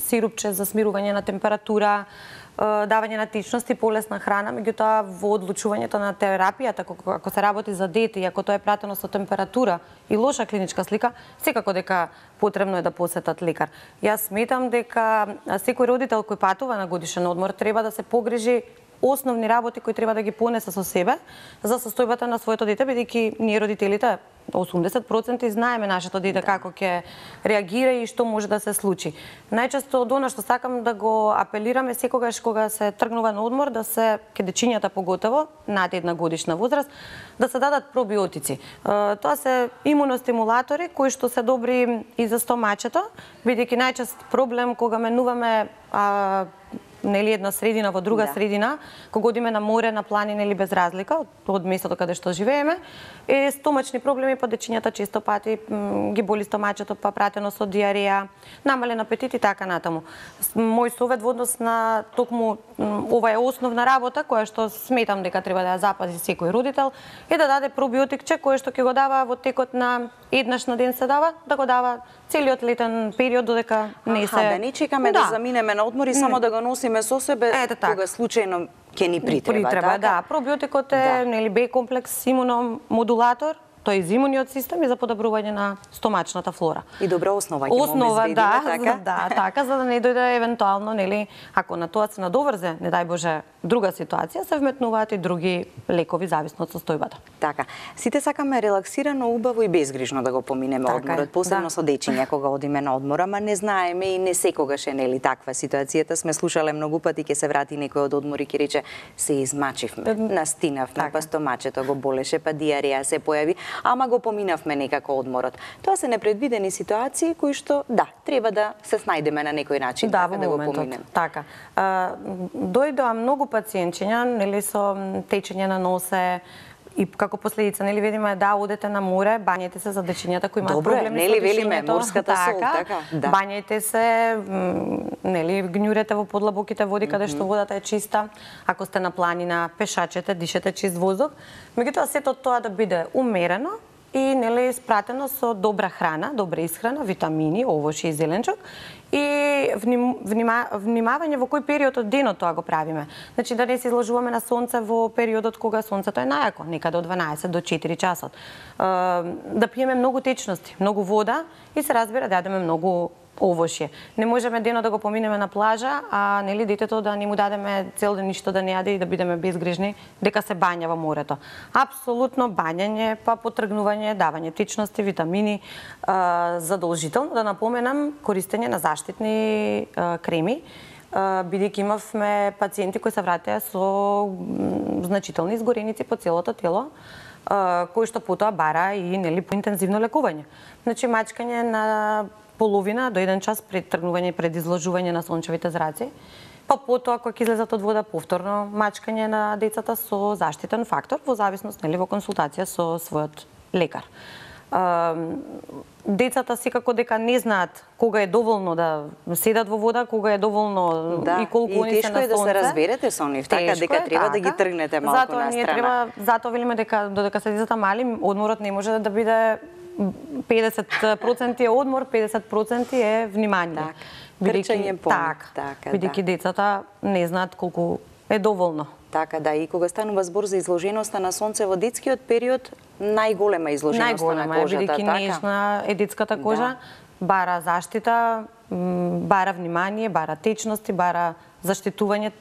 сирупче за смирување на температура, давање на течности, полесна храна, меѓутоа во одлучувањето на терапијата, ако се работи за дете и ако тоа е пратено со температура и лоша клиничка слика, секако дека потребно е да посетат лекар. Јас сметам дека секој родител кој патува на годишен одмор треба да се погрижи основни работи кои треба да ги понесе со себе за состојбата на своето дете, бидејќи ние родителите 80% знаеме нашето дете како ќе реагира и што може да се случи. Најчесто од она што сакам да го апелираме секогаш кога се тргнува на одмор, да се ке дечињата поготово над 1 годишна возраст, да се дадат пробиотици. Тоа се имуностимулатори кои што се добри и за стомачето, бидејќи најчест проблем кога менуваме нели една средина во друга средина, кога одиме на море, на планина или без разлика од местото каде што живееме, е стомачни проблеми, па дечињата често пати ги боли стомачето, па пратено со диареја, намален апетит и така натаму. Мој совет во однос на токму ова е основна работа која што сметам дека треба да ја запази секој родител, е да даде пробиотикче кое што ќе го дава во текот на еднаш на ден се дава, да го дава целиот летен период додека не се да не чекаме да заминеме на одмор и само да го носиме со себе кога случајно ќе ни притреба, така? Да, пробиотикот е нели Б комплекс имуномодулатор, тој е за имуниот систем и за подобрување на стомачната флора. И добра основа ќе му обезбедиме, така? Да, така, за да не дојде евентуално, нели, ако на тоа се надоврзе, не дај Боже, друга ситуација, се вметнуваат и други лекови зависно од состојбата. Така. Сите сакаме релаксирано, убаво и безгрижно да го поминеме одморот, посебно со дечиња кога одиме на одмор, ама не знаеме и не секогаш е нели таква ситуацијата. Сме слушале многу пати, ќе се врати некој од одмор и ќе рече се измачивме, настинавме, па стомачето го болеше, па диареја се појави, ама го поминавме некако одморот. Тоа се непредвидени ситуации кои што треба да се снајдеме на некој начин да го поминеме. Така. Дојдоа многу пациентчиња, нели со течење на носе, и како последица, нели видиме да одете на море, бањете се за дечињата кои имаат проблеми нели велиме морската сол, така? Бањете се, нели гњурете во подлабоките води каде што водата е чиста. Ако сте на планина, пешачете, дишете чист воздух. Меѓутоа сето тоа да биде умерено и нели испратено со добра храна, добра исхрана, витамини, овошје и зеленчук и внимавање во кој период од денот тоа го правиме. Значи да не се изложуваме на сонце во периодот кога сонцето е најако, некаде од 12 до 4 часот. Да пиеме многу течности, многу вода и се разбира да јадеме многу овошје. Не можеме денот да го поминеме на плажа, а нели детето да не му дадеме цел ден ништо да не јаде и да бидеме безгрижни дека се бања во морето. Апсолутно бањање, па потргнување, давање течности, витамини, задолжително да напоменам користење на заштитни креми, бидејќи имавме пациенти кои се вратеа со значителни изгореници по целото тело, кои што потоа бара и нели поинтензивно лекување. Значи мачкање на половина до 1 час пред тргнување и пред изложување на сончевите зраци, па потоа кога ќе излезат од вода повторно мачкање на децата со заштитен фактор во зависност нели во консултација со својот лекар. Децата секако дека не знаат кога е доволно да седат во вода, кога е доволно и колку они се на сонце. И тешко е да се разберете со нив, така дека треба да ги тргнете малку на страна. Затоа велиме дека додека се децата мали, одморот не може да биде 50% е одмор, 50% е внимание. Трчање по нив. Бидејќи децата не знаат колку е доволно. Така да, и кога станува збор за изложеноста на сонце во детскиот период, најголема изложеноста на кожата, бидејќи нежна е детската кожа, бара заштита, бара внимание, бара течности, бара заштитување,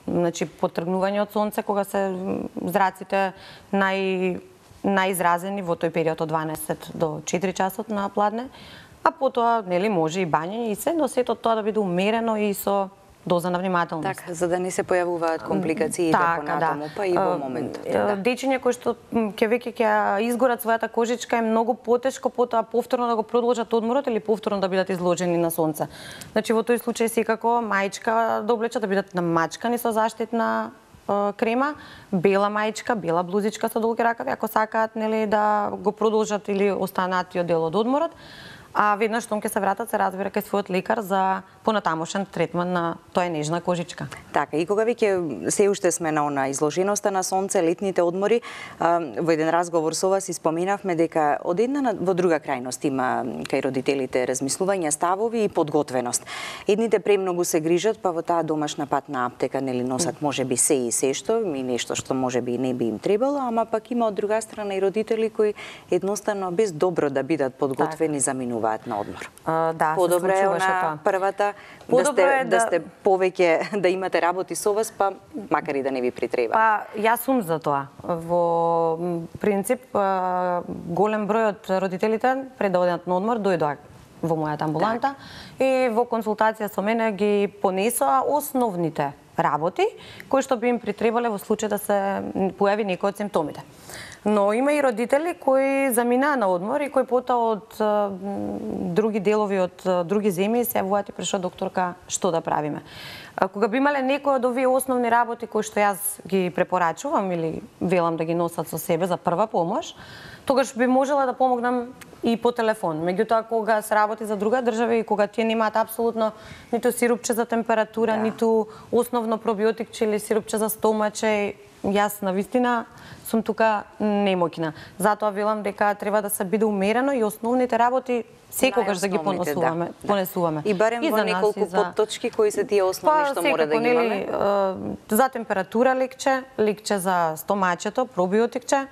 значи потргнување од сонце кога се зраците најизразени во тој период од 12 до 4 часот на пладне, а потоа нели може и бањење и се, но сето тоа да биде умерено и со доза на внимателност. Така, за да не се појавуваат компликации понатаму, па и во моментот. Дечиња кои што веќе ќе изгорат својата кожичка е многу потешко потоа повторно да го продолжат одморот или повторно да бидат изложени на сонце. Значи во тој случај секако маичка да облечат, да бидат намачкани со заштитна крема, бела маичка, бела блузичка со долги ракави, ако сакаат нели да го продолжат или останатиот дел од одморот. А веднаш штом ќе се вратат, се разбира кај својот лекар за понатамошен третман на тоа нежна кожичка. Така, и кога веќе се уште сме на изложеноста на сонце, летните одмори, во еден разговор со вас споменавме дека од една во друга крајност има кај родителите размислување, ставови и подготвеност. Едните премногу се грижат, па во таа домашна патна аптека нели носат можеби се и се што, и нешто што можеби не би им требало, ама пак има од друга страна и родители кои едноставно без добро да бидат подготвени заминуваат на одмор. Да, подобро е она првата да сте повеќе да имате работи со вас, па макар и да не ви притреба. Па јас сум за тоа. Во принцип голем број од родителите пред да одат на одмор дојдоа во мојата амбуланта и во консултација со мене ги понесоа основните работи кои што би им притребале во случај да се појави некој од симптомите. Но има и родители кои заминаа на одмор и кои потоа од други делови, од други земји се јавуваат и прашаат докторка што да правиме. Кога би имале некој од овие основни работи кои што јас ги препорачувам или велам да ги носат со себе за прва помош, тогаш би можела да помогнам и по телефон. Меѓутоа, кога се работи за друга држава и кога тие немаат апсолутно ниту сирупче за температура, ниту основно пробиотикче или сирупче за стомаче, јас навистина сум тука немоќна. Затоа велам дека треба да се биде умерено и основните работи секогаш да ги понесуваме. И барем во неколку подточки кои се тие основни што мора да ги имаме. За температура лекче за стомачето, пробиотикче.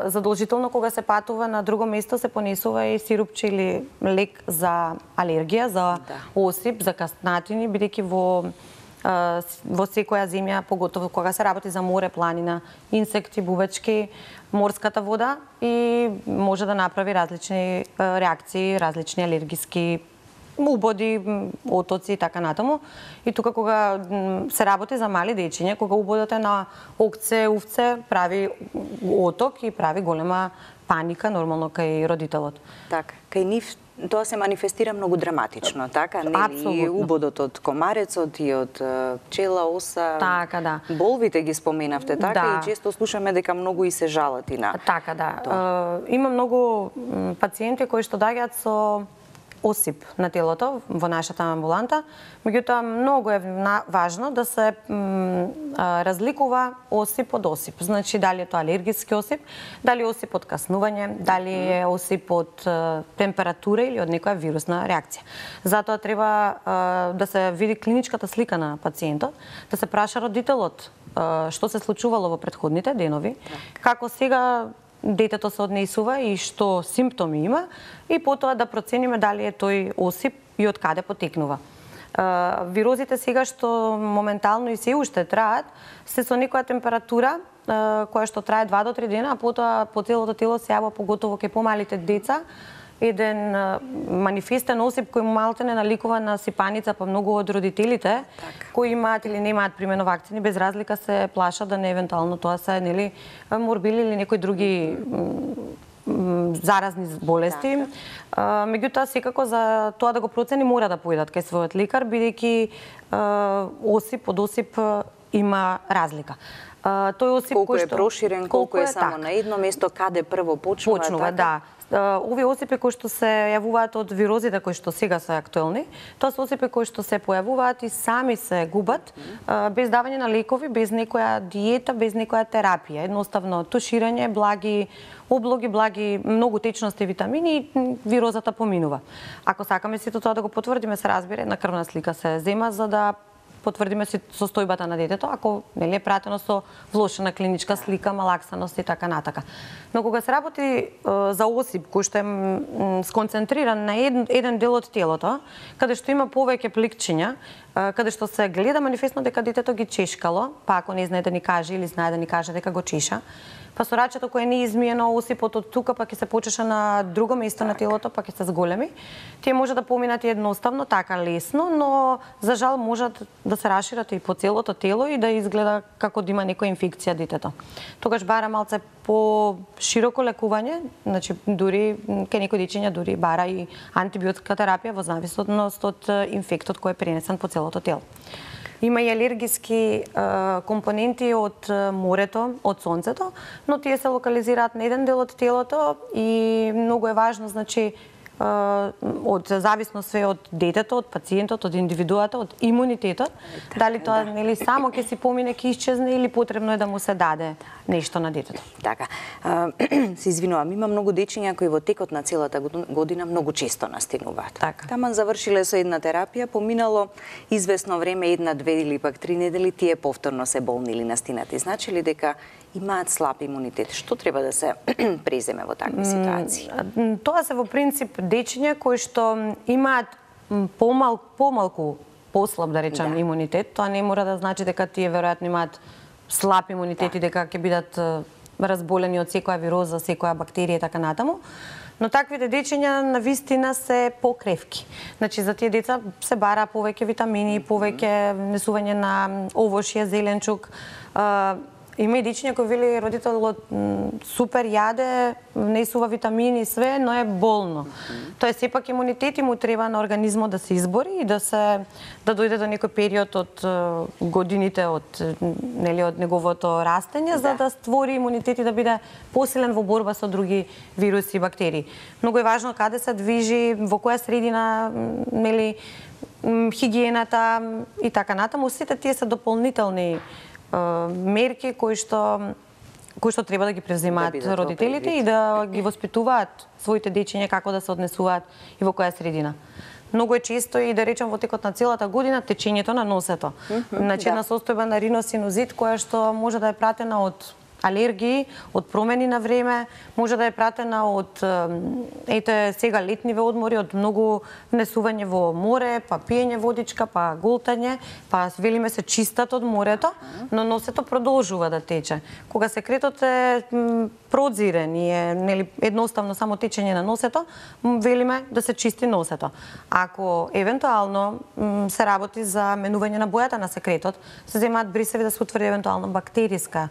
Задолжително кога се патува на друго место се понесува и сирупче или лек за алергија, за осип, за каснатини, бидејќи во секоја земја, поготово кога се работи за море, планина, инсекти, бубачки, морската вода и може да направи различни реакции, различни алергиски убоди, отоци и така натаму. И тука кога се работи за мали дечиња, кога убодот е на окце, увце, прави оток и прави голема паника нормално кај родителот. Така, кај нив тоа се манифестира многу драматично, така? Нели и убодот од комарецот и од пчела, оса. Така, да. Болвите ги споменавте, така? И често слушаме дека многу и се жалат и на. Така, да. Има многу пациенти кои што доаѓаат со осип на телото во нашата амбуланта, меѓутоа многу е важно да се разликува осип од осип. Значи дали е тоа алергиски осип, дали е осип од каснување, дали е осип од температура или од некоја вирусна реакција. Затоа треба да се види клиничката слика на пациентот, да се праша родителот што се случувало во претходните денови, како сега детето се однесува и што симптоми има и потоа да процениме дали е тој осип и од каде потекнува. Вирозите сега што моментално и се уште траат, се со некоја температура која што трае 2 до 3 дена, а потоа по целото тело се јавува поготово кај помалите деца еден манифестен осип кој малку не наликува на сипаница, па многу од родителите кои имаат или немаат примено вакцини, без разлика се плашат да не евентуално тоа се нели морбили или некои други заразни болести. Меѓутоа секако за тоа да го процени мора да поидат кај својот лекар, бидејќи осип од осип има разлика. Тој осип колку кој е проширен, колку е само на едно место, каде прво почнува, да. Овие осипи кои што се јавуваат од вирозите кои што сега се актуелни, тоа се осипи кои што се појавуваат и сами се губат без давање на лекови, без некоја диета, без некоја терапија. Едноставно туширање, благи облоги, благи многу течности и витамини и вирозата поминува. Ако сакаме сето тоа да го потврдиме, се разбира, една крвна слика се зема за да потврдиме состојбата на детето, ако нели е пратено со влошена клиничка слика, малаксаност и така натака. Но кога се работи за осип кој што е сконцентриран на еден дел од телото, каде што има повеќе пликчиња, каде што се гледа манифестно дека детето ги чешкало, па ако не знае да ни каже или знае да ни каже дека го чеша, па со рачето кое не е измиено, осипот од тука па ќе се почеша на друго место на телото, па ќе се зголеми. Тие може да поминат едноставно, така лесно, но за жал можат да се рашират и по целото тело и да изгледа како да има некоја инфекција детето. Тогаш бара малце по широко лекување, значи дури кај некои дечиња дури бара и антибиотска терапија во зависност од инфектот кој е пренесен по целото тело. Има и алергиски компоненти од морето, од сонцето, но тие се локализираат на еден дел од телото и многу е важно, значи, од зависност све од детето, од пациентот, од индивидуата, од имунитетот, дали тоа нели само ќе си помине, ќе исчезне или потребно е да му се даде нешто на детето. Така. Се извинувам, има многу дечиња кои во текот на целата година многу често настинуваат. Така. Таман завршиле со една терапија, поминало извесно време, една, две или пак 3 недели, тие повторно се болни или настинати. Значи ли дека имаат слаб имунитет? Што треба да се преземе во такви ситуации? Тоа се во принцип дечиња кои што имаат помалку послаб, да речам, имунитет. Тоа не мора да значи дека тие веројатно имаат слаб имунитет и дека ќе бидат разболени од секоја вироза, секоја бактерија и така натаму. Но таквите дечиња на вистина се покревки. Значи за тие деца се бара повеќе витамини, повеќе внесување на овошје, зеленчук. Има и дечиња кои вели родителот супер јаде, внесува витамини и све, но е болно. Тоа е сепак имунитет и му треба на организмот да се избори и да дојде до некој период од годините од неговото растење за да створи имунитет и да биде посилен во борба со други вируси и бактерии. Многу е важно каде се движи, во која средина, хигиената и така натаму. Сите тие се дополнителни мерки кои што треба да ги преземаат родителите и да ги воспитуваат своите дечиња како да се однесуваат и во која средина. Многу е често и да речем во текот на целата година течењето на носето. Значи една состојба на риносинузит која што може да е пратена од алергии, од промени на време, може да е пратена од сега летниве одмори, од многу внесување во море, па пиење водичка, па голтање, па велиме се чистат од морето, но носето продолжува да тече. Кога секретот е прозирен и е едноставно само течење на носето, велиме да се чисти носето. Ако евентуално се работи за менување на бојата на секретот, се земаат брисеви да се утврди евентуално бактериска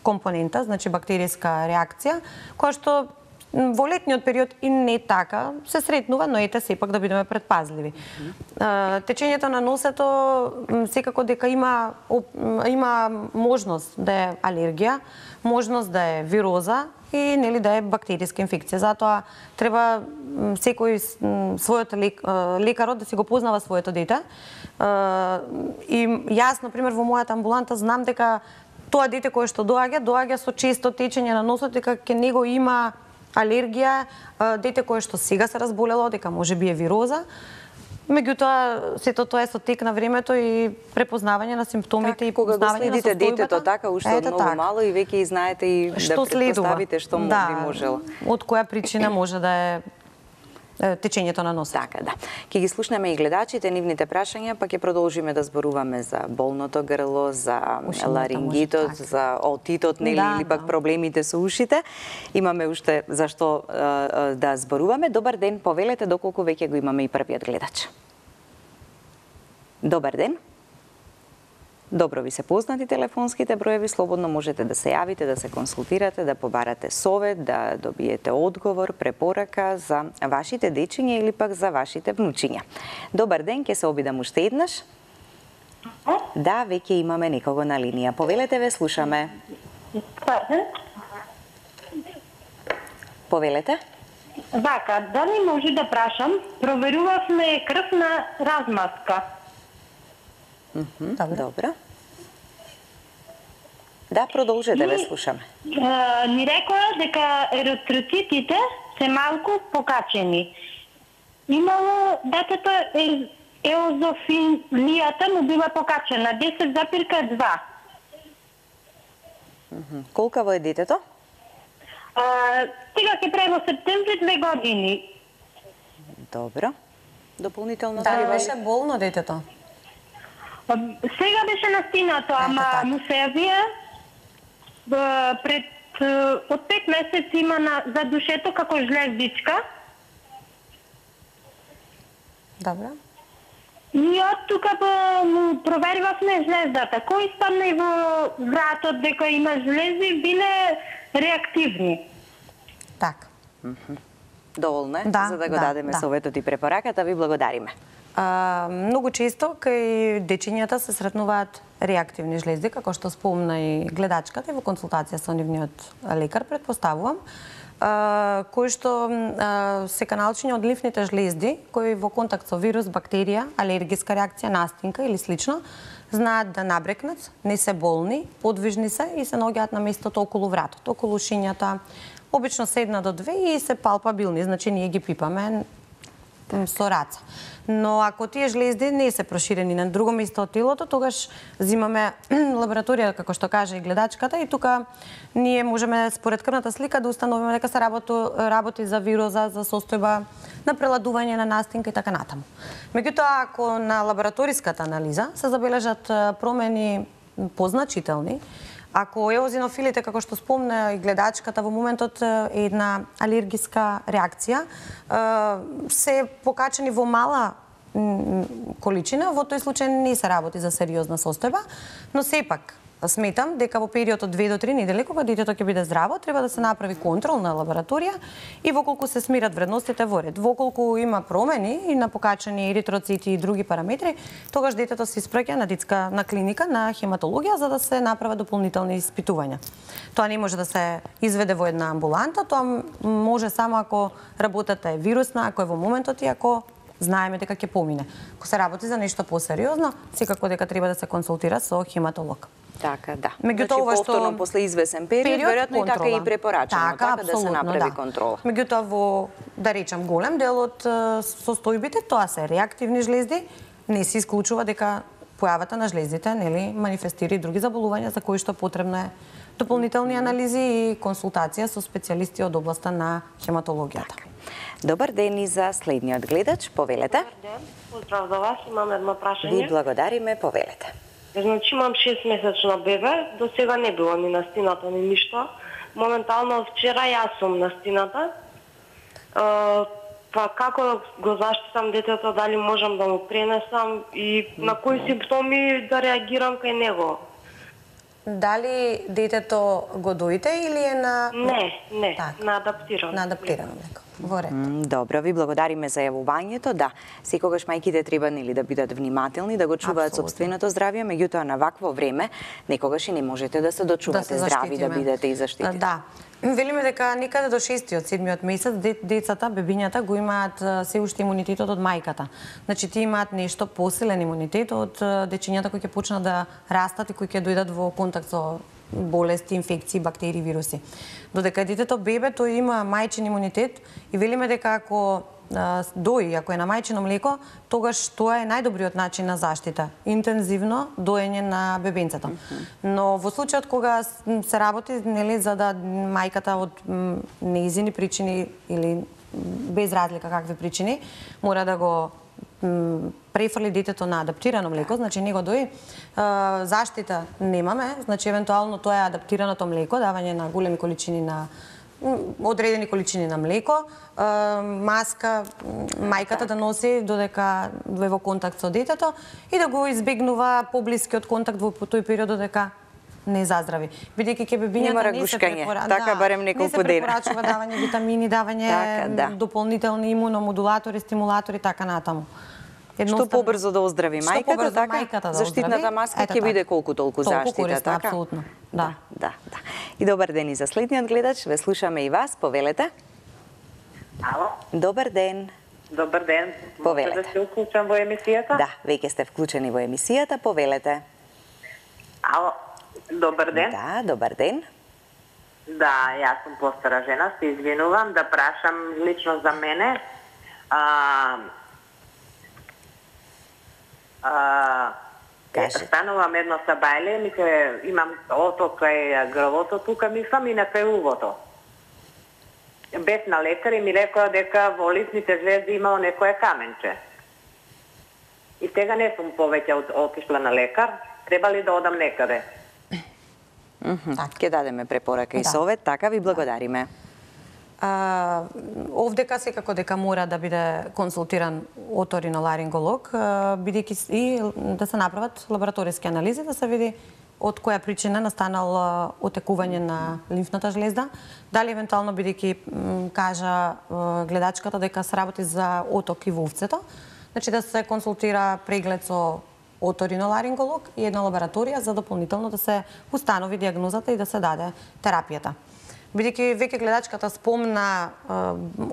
компонента, значи бактериска реакција, која што во летниот период и не така се сретнува, но ете сепак да бидеме предпазливи. Течењето на носето секако дека има можност да е алергија, можност да е вироза и да е бактериска инфекција. Затоа треба секој својот лекарот да си го познава своето дете. И јас, например, во мојата амбуланта знам дека тоа дете кое што доаѓа со често течење на носот, дека ке него има алергија, дете кое што сега се разболело, дека можеби е вироза. Меѓутоа, сето тоа е со тек на времето и препознавање на симптомите и кога го следите детето така уште од многу мало и веќе знаете и да претпоставите што би можело. Од која причина може да е течењето на носот. Така, да. Ќе ги слушнеме и гледачите, нивните прашања, па ќе продолжиме да зборуваме за болното грло, за ларингитот, за отитот, или пак проблемите со ушите. Имаме уште за што да зборуваме. Добар ден, повелете доколку веќе го имаме и првиот гледач. Добар ден. Добро ви се познати телефонските броеви, слободно можете да се јавите, да се консултирате, да побарате совет, да добиете одговор, препорака за вашите дечиња или пак за вашите внучиња. Добар ден, ќе се обидам уште еднаш. Да, веќе имаме некого на линија. Повелете, ве слушаме. Повелете. Вака, дали може да прашам, проверувавме крвна размазка. Добро. Да, продолжете, ве слушаме. Ни рекоа дека еритроцитите се малку покачени. Имало детето еозофилијата му била покачена 10,2. Колкаво е детето? Сега ќе прави во септември 2 години. Добро. Дополнително Дали беше болно детето? Сега беше настинато, ама му се јавија пред од 5 месеци има за душето како жлездичка. Добро. И од тука му проверивавме жлездата. Кој стана и во вратот дека има жлезди, биле реактивни. Така. Доволно е, Да, за да го да, дадеме да. советот и препораката. Ви благодариме. Многу често кај дечињата се сретнуваат реактивни жлезди, како што спомна и гледачката и во консултација со нивниот лекар, предпоставувам, кои што се каналчиња од лимфните жлезди, кои во контакт со вирус, бактерија, алергиска реакција, настинка или слично, знаат да набрекнат, не се болни, подвижни се и се наоѓаат на местото околу вратот, околу шинјата, обично се 1 до 2 и се палпабилни, значи ние ги пипаме со раца. Но ако тие жлезди не се проширени на друго место од телото, тогаш взимаме лабораторија, како што кажа и гледачката, и тука ние можеме според крвната слика да установиме дека се работи за вироза, за состојба на преладување на настинка и така натаму. Меѓутоа, ако на лабораториската анализа се забележат промени позначителни, ако еозинофилите, како што спомна и гледачката, во моментот е една алергиска реакција, се покачени во мала количина, во тој случај не се работи за сериозна состојба, но сепак сметам дека во период од 2 до 3 недели, кога детето ќе биде здраво, треба да се направи контрол на лабораторија и воколку се смират вредностите во ред, воколку има промени и на покачени еритроцити и други параметри, тогаш детето се испраќа на клиника на хематологија за да се направат дополнителни испитувања. Тоа не може да се изведе во една амбуланта, тоа може само ако работата е вирусна, ако е во моментот и ако знаеме дека ќе помине. Ако се работи за нешто посериозно, секако дека треба да се консултира со хематолог. Така, да. Меѓутоа, ова што повторно после извесен период, веројатно и така и препорачано, така да се направи контрола. Меѓутоа, во, да речам, голем дел од состојбите, тоа се реактивни жлезди, не се исклучува дека појавата на жлездите, нели, манифестира и други заболувања за кои што потребно е дополнителни анализи и консултација со специјалисти од областа на хематологијата. Добар ден и за следниот гледач, повелете. Добар ден, поздрав за вас, имам едно прашање. Ви благодариме, повелете. Значи имам 6-месечно бебе, до сега не било ни настината, ни ништо. Моментално од вчера јас сум настината. Па како го заштитам детето, дали можам да му пренесам и на кои симптоми да реагирам кај него? Дали детето го доите или е на... Не, Так. на адаптирано. На адаптирано млеко. Во ред. Добро, ви благодариме за јавувањето. Да, секогаш мајките треба нели да бидат внимателни, да го чуваат Апсолутно. сопственото здравје, меѓутоа на вакво време некогаш и не можете да се дочувате здрави, да бидете и заштитени. Да. Велиме дека некаде до 6-7 месец децата, бебињата го имаат се уште имунитетот од мајката. Значи тие имаат нешто посилен имунитет од дечињата кои ќе почнат да растат и кои ќе дојдат во контакт со болести, инфекции, бактерии, вируси. Додека детето бебе, тој има мајчин имунитет и велиме дека ако дои, ако е на мајчино млеко, тогаш тоа е најдобриот начин на заштита. Интензивно доење на бебенцето. Но во случајот кога се работи, нели, за да мајката од неизини причини или без разлика какви причини, мора да го префрли детето на адаптирано млеко, значи не го дои, заштита немаме, значи евентуално тоа е адаптираното млеко, давање на големи количини на одредени количини на млеко, маска мајката да носи додека е во контакт со детето и да го избегнува поблискиот контакт во тој период додека не заздрави. Бидејќи ќе бебињата не се препорачува, така барем неколку дена. Не се препорачува давање витамини, давање така, да. дополнителни имуномодулатори, стимулатори така натаму. Што побрзо да оздрави мајката, така? Заштитната маска ќе биде колку толку заштита, така? Апсолутно, да. Да. И добар ден и за следниот гледач, ве слушаме и вас, повелете. Ало? Добар ден. Добар ден. Повелете. Може да се уклучам во емисијата? Да, веќе сте вклучени во емисијата, повелете. Ало, добар ден. Да, добар ден. Да, јас сум постара жена, се извинувам да прашам лично за мене. Станувам едно сабајле, имам оток кај грвото тука, мислам и на кај увото. Бев на лекар и ми рекоа дека во лицните звезди имало некое каменче. И сега не сум повеќе отишла на лекар, треба ли да одам некаде? Ќе дадеме препорака и совет, така ви благодариме. Овдека секако дека мора да биде консултиран оториноларинголог, бидејќи и да се направат лабораториски анализи, да се види од која причина настанал отекување на лимфната жлезда, дали евентуално бидејќи кажа гледачката дека се работи за оток и во увцето, значи да се консултира преглед со оториноларинголог и една лабораторија за дополнително да се установи диагнозата и да се даде терапијата. Бидејќи веќе гледачката спомна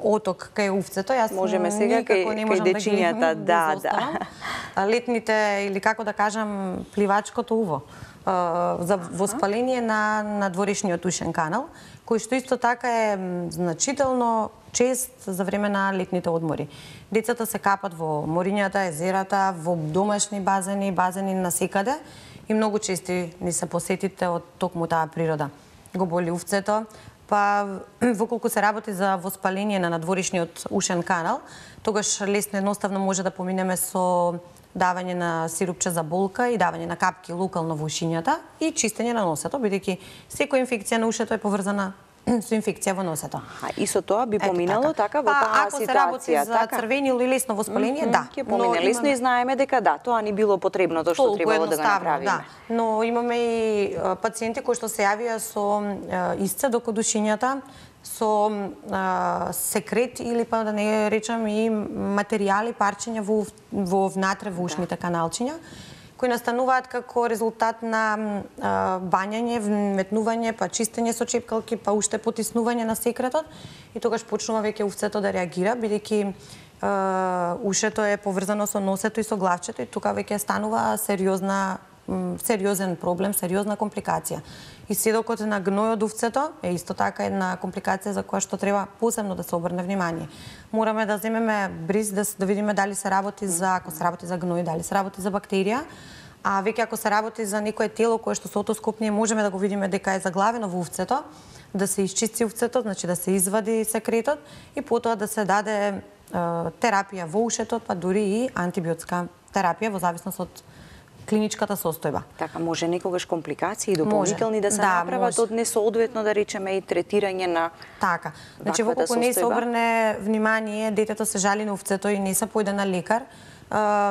оток кај увцето, јас можеме сега кај дечињата, да. Летните или како да кажам пливачкото уво за воспаление на дворешниот ушен канал, кој што исто така е значително чест за време на летните одмори. Децата се капат во морињата, езерата, во домашни базени, базени насекаде и многу чести ни се посетите од токму таа природа. Го боли увцето, па воколку се работи за воспаление на надворешниот ушен канал, тогаш лесно едноставно може да поминеме со давање на сирупче за болка и давање на капки локално во ушињата и чистење на носето, бидејќи секоја инфекција на ушето е поврзана со инфекција во носето. И со тоа би поминало така во таа ситуација. Ако се работи за црвени или лесно воспаление, да. Ќе помине лесно и знаеме дека да, тоа ни било потребно тоа што требало да го направиме. Да. Но имаме и пациенти кои што се јавија со исцедок од ушињата, со секрет или па да не речам и материјали, парчиња во внатре во ушните каналчиња, кои настануваат како резултат на бањање, вметнување, па чистење со чепкалки, па уште потиснување на секретот и тогаш почнува веќе увцето да реагира, бидејќи ушето е поврзано со носето и со главчето и тука веќе станува сериозен проблем, сериозна компликација. И седокот на гној од увцето е исто така една компликација за која што треба посебно да се обрне внимание. Мораме да земеме бриз да видиме дали се работи за, ако се работи за гној, дали се работи за бактерија, а веќе ако се работи за некое тело кое што со отоскоп ние можеме да го видиме дека е заглавено во увцето, да се исчисти увцето, значи да се извади секретот и потоа да се даде терапија во ушето, па дури и антибиотска терапија во зависност од клиничката состојба. Така, може некогаш компликации дополнителни да се направат од несоодветно, да речеме, и третирање на така. Значи, воколку не се обрне внимание, детето се жали на увцето и не се појде на лекар,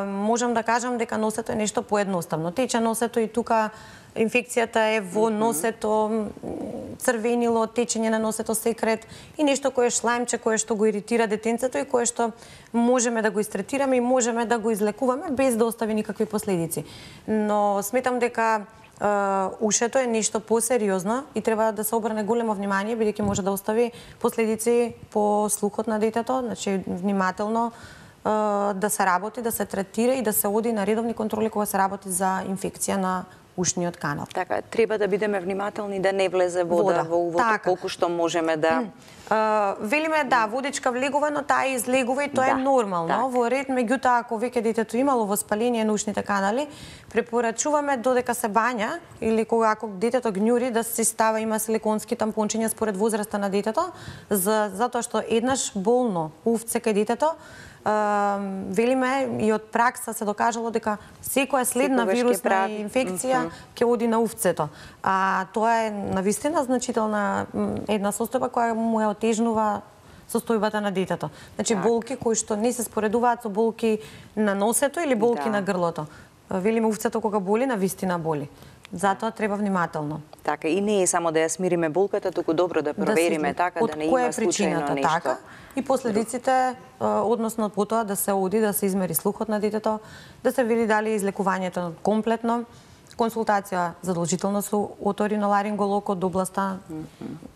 можам да кажам дека носето е нешто поедноставно. Тече носето и тука инфекцијата е во носето, црвенило, течење на носето, секрет и нешто кое е шлајмче, кое што го иритира детенцето и кое што можеме да го истретираме и можеме да го излекуваме без да остави никакви последици. Но сметам дека ушето е нешто посериозно и треба да се обрне големо внимание, бидејќи може да остави последици по слухот на детето, значи внимателно да се работи, да се третира и да се оди на редовни контроли кога се работи за инфекција на ушниот канал. Така, треба да бидеме внимателни да не влезе вода во увото, така. Колку што можеме да... Велиме, да, водичка влегува, но таа излегува и тоа е нормално. Так. Во ред, меѓутоа, ако веќе детето имало воспаление на ушните канали, препорачуваме додека се бања или ако детето гњури да се става, има силиконски тампончиња според возраста на детето, затоа што еднаш болно увце кај детето, велиме и од пракса се докажало дека секоја следна вирусна инфекција ќе оди на увцето. А тоа е навистина значителна една состојба која му ја отежнува состојбата на детето. Значи болки кои што не се споредуваат со болки на носето или болки на грлото. Велиме увцето кога боли, навистина боли. Затоа треба внимателно. Така, и не е само да ја смириме болката, туку добро да провериме така, да не има случајно нешто. Така, и последиците, односно по тоа да се оди, да се измери слухот на детето, да се види дали излекувањето комплетно, консултација задолжително со оториноларинголог од областа.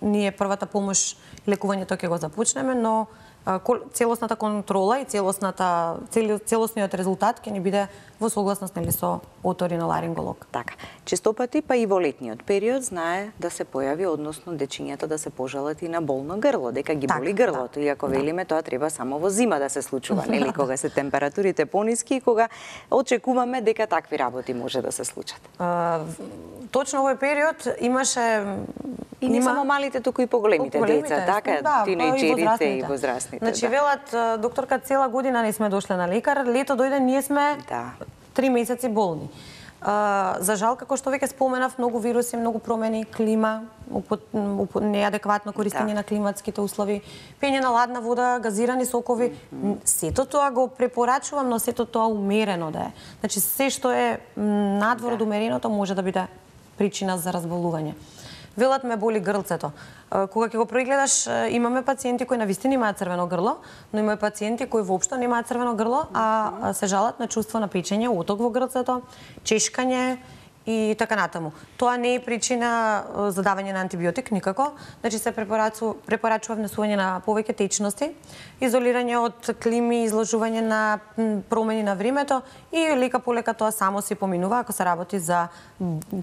Ние првата помош и лекувањето ќе го започнеме, но целосната контрола и целосниот резултат ќе ни биде во согласност со оториноларинголог. Така. Честопати, па и во летниот период знае да се појави, односно дечињата да се пожалат и на болно грло, дека ги боли грлото. Иако велиме тоа треба само во зима да се случува, нели, кога се температурите пониски и кога очекуваме дека такви работи може да се случат. Точно овој период имаше и не само малите, туку и поголемите деца, така, тинејџерите и возрастните. Значи велат докторка, цела година не сме дошле на лекар, лето дојде, ние сме 3 месеци болни. За жал, како што веќе споменав, многу вируси, многу промени, клима, неадекватно користење на климатските услови, пење на ладна вода, газирани сокови, сето тоа го препорачувам, но сето тоа умерено да е. Значи се што е надвор од умереното може да биде причина за разболување. Велат ме боли грлцето. Кога ќе го прегледаш, имаме пациенти кои навистина имаат црвено грло, но има пациенти кои воопшто немаат црвено грло, а се жалат на чувство на печење, оток во грцето, чешкање и така натаму. Тоа не е причина за давање на антибиотик никако. Значи се препорачува внесување на повеќе течности, изолирање од клими, изложување на промени на времето и лека по лека тоа само се поминува ако се работи за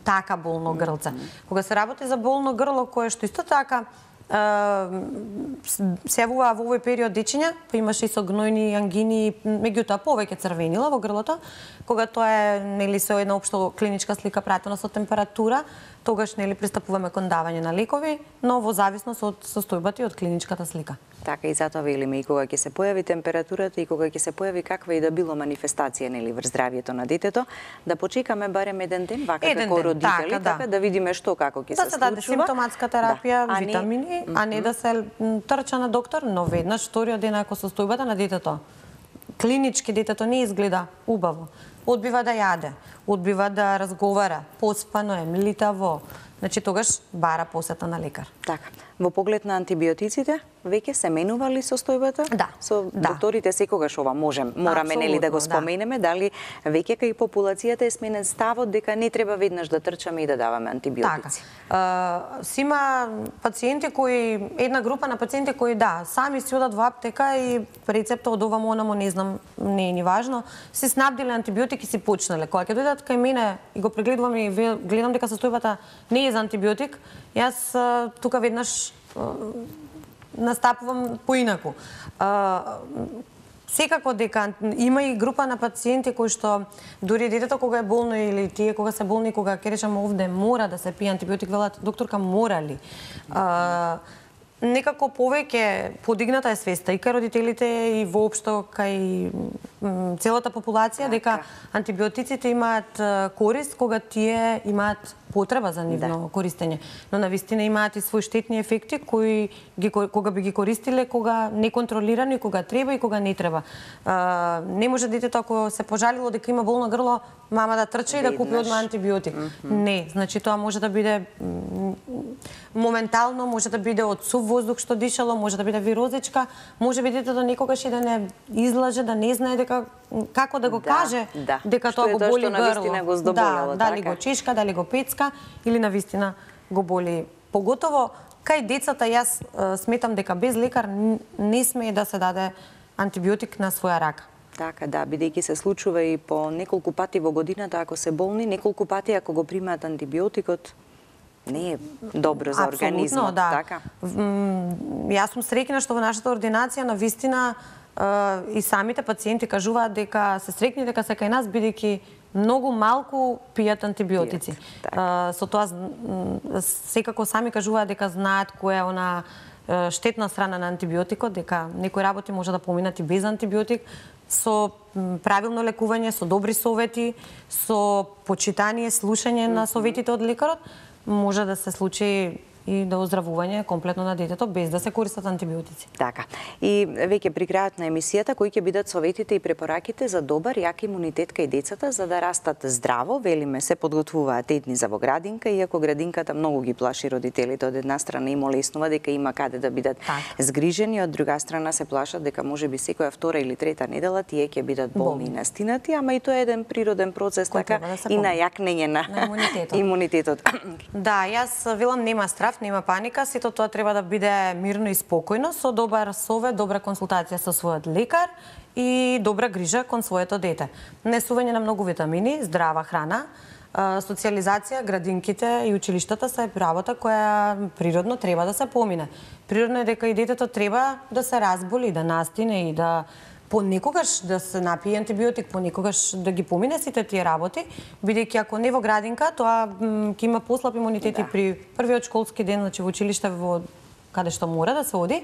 така болно грлце. Кога се работи за болно грло кое што исто така се јавува во овој период дечиња, па имаше и со гнојни ангини, меѓутоа повеќе црвенила во грлото, кога тоа е нели со една општо клиничка слика пратено со температура, тогаш нели пристапуваме кон давање на лекови, но во зависност од состојбата и од клиничката слика. Така и затоа велиме и кога ќе се појави температурата и кога ќе се појави каква и да било манифестација нели врз здравјето на детето, да почекаме барем еден ден вака како родители, така да видиме што како ќе се случува. Да се даде симптоматска терапија, витамини, а не да се трча на доктор, но веднаш вториот ден ако состојбата на детето клинички детето не изгледа убаво, одбива да јаде, одбива да разговара, поспано е, млитаво, значи тогаш бара посета на лекар. Така. Во поглед на антибиотиците, веќе се менува ли состојбата? Да. Со докторите секогаш ова мораме нели да го споменеме, дали веќе кај популацијата е сменен ставот дека не треба веднаш да трчаме и да даваме антибиотици. Така. Има пациенти кои, една група на пациенти кои сами си одат во аптека и рецепта од овамо онамо не знам, не е ни важно, си снабдиле антибиотик и си почнале. Кога ќе дојдат кај мене и го прегледувам и гледам дека состојбата не е за антибиотик, јас тука веднаш настапувам поинаку. Секако дека има и група на пациенти кои што дури детето кога е болно или тие кога се болни, кога ќе речам овде мора да се пие антибиотик, велат докторка мора ли? Некако повеќе подигната е свеста и кај родителите и воопшто кај целата популација дека антибиотиците имаат корист кога тие имаат потреба за нивно користење, но навистина имаат и свои штетни ефекти кои кога би ги користиле кога неконтролирано и кога треба и кога не треба. Не може детето ако се пожалило дека има болно грло, мама да трча и да купи одма антибиотик. Не, значи тоа може да биде моментално, може да биде од сув воздух што дишало, може да биде вирозичка, може би детето некогаш и да не излаже, да не знае дека како да го каже дека тоа го боли грло. Дали го чешка, дали го пецка или навистина го боли. Поготово кај децата јас сметам дека без лекар не смее да се даде антибиотик на своја рака. Така, бидејќи се случува и по неколку пати во годината ако се болни, неколку пати ако го примаат антибиотикот, не е добро за организмот, така? Јас сум среќна што во нашата ординација навистина и самите пациенти кажуваат дека се среќни дека се кај нас бидејќи многу малку пијат антибиотици. Со тоа секако сами кажуваат дека знаат која е она штетна страна на антибиотикот, дека некои работи може да поминат и без антибиотик, со правилно лекување, со добри совети, со почитание, слушање на советите од лекарот, може да се случи и до оздравување комплетно на детето без да се користат антибиотици. Така. И веќе при крајот на емисијата, кои ќе бидат советите и препораките за добар јак имунитет кај децата за да растат здраво? Велиме се подготвуваат етни за во градинка, иако градинката многу ги плаши родителите. Од една страна им олеснува дека има каде да бидат згрижени, од друга страна се плашат дека можеби секоја втора или трета недела тие ќе бидат болни и настинати, ама и тоа е еден природен процес така и на јакнење на имунитетот. Да, јас велам нема страф, нема паника, сето тоа треба да биде мирно и спокојно, со добар совет, добра консултација со својот лекар и добра грижа кон своето дете. Несување на многу витамини, здрава храна, социализација, градинките и училиштата се работа која природно треба да се помине. Природно е дека и детето треба да се разболи, да настине и да понекогаш да се напие антибиотик, понекогаш да ги помине сите тие работи, бидејќи ако не во градинка, тоа ќе има послаб имунитет и при првиот школски ден, значи во училиште во каде што мора да се оди,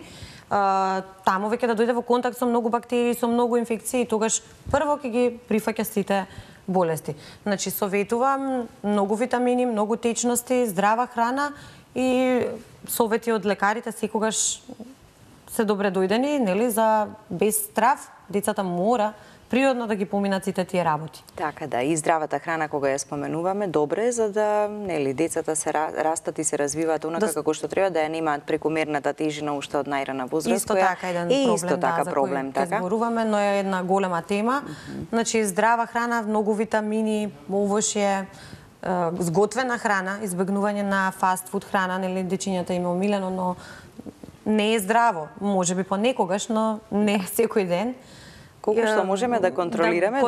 таму веќе да дојде во контакт со многу бактерии, со многу инфекции, тогаш прво ќе ги прифаќа сите болести. Значи советувам многу витамини, многу течности, здрава храна и совети од лекарите секогаш се добре дојдени, нели, за без страф децата мора природно да ги поминат сите тие работи. Така да, и здравата храна кога ја споменуваме, добре е за да, нели, децата се растат и се развиваат онака како што треба, да ја немаат прекомерната тежина уште од најрана возраст. Исто така еден проблем, исто така за проблем, кој зборуваме, но е една голема тема. Значи здрава храна, многу витамини, овошје, зготвена храна, избегнување на фастфуд храна, нели, дечињата им е омилено, но не е здраво. Можеби понекогаш, но не секој ден. Колку што можеме да контролираме,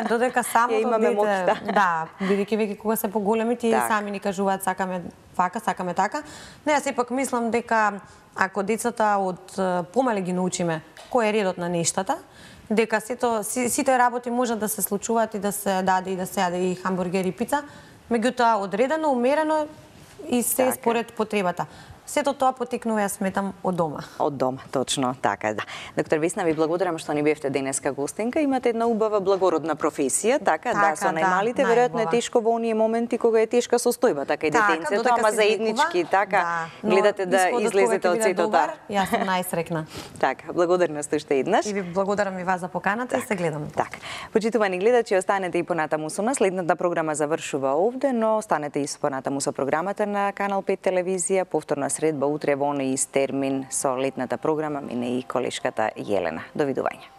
додека самото дете, да, бидејќи веќе кога се поголеми тие сами ни кажуваат сакаме вака, сакаме така. Не, јас сепак мислам дека ако децата од помале ги научиме кој е редот на нештата, дека сите работи можат да се случуваат и да се даде и да се јаде и хамбургери и пица, меѓутоа одредено, умерено и се според потребата. Сето тоа потекнува, јас сметам, од дома. Од дома, точно, така да. Доктор Весна, ви благодарам што ни бевте денеска гостинка. Имате една убава благородна професија, така да, со најмалите, веројатно е тешко во оние моменти кога е тешка состојба, така и детенцето, ама заеднички, така, гледате да излезете од сето тоа. Јас сум најсрекна. Така, благодарна сте уште еднаш. И ви благодарам и вас за поканата и се гледам. Така. Почитувани гледачи, останете и понатаму со нас. Следната програма завршува овде, но останете и понатаму со програмата на Канал 5 телевизија. Повторна средба утре во оној ист термин со летната програма, мине и колешката Јелена. Довидување.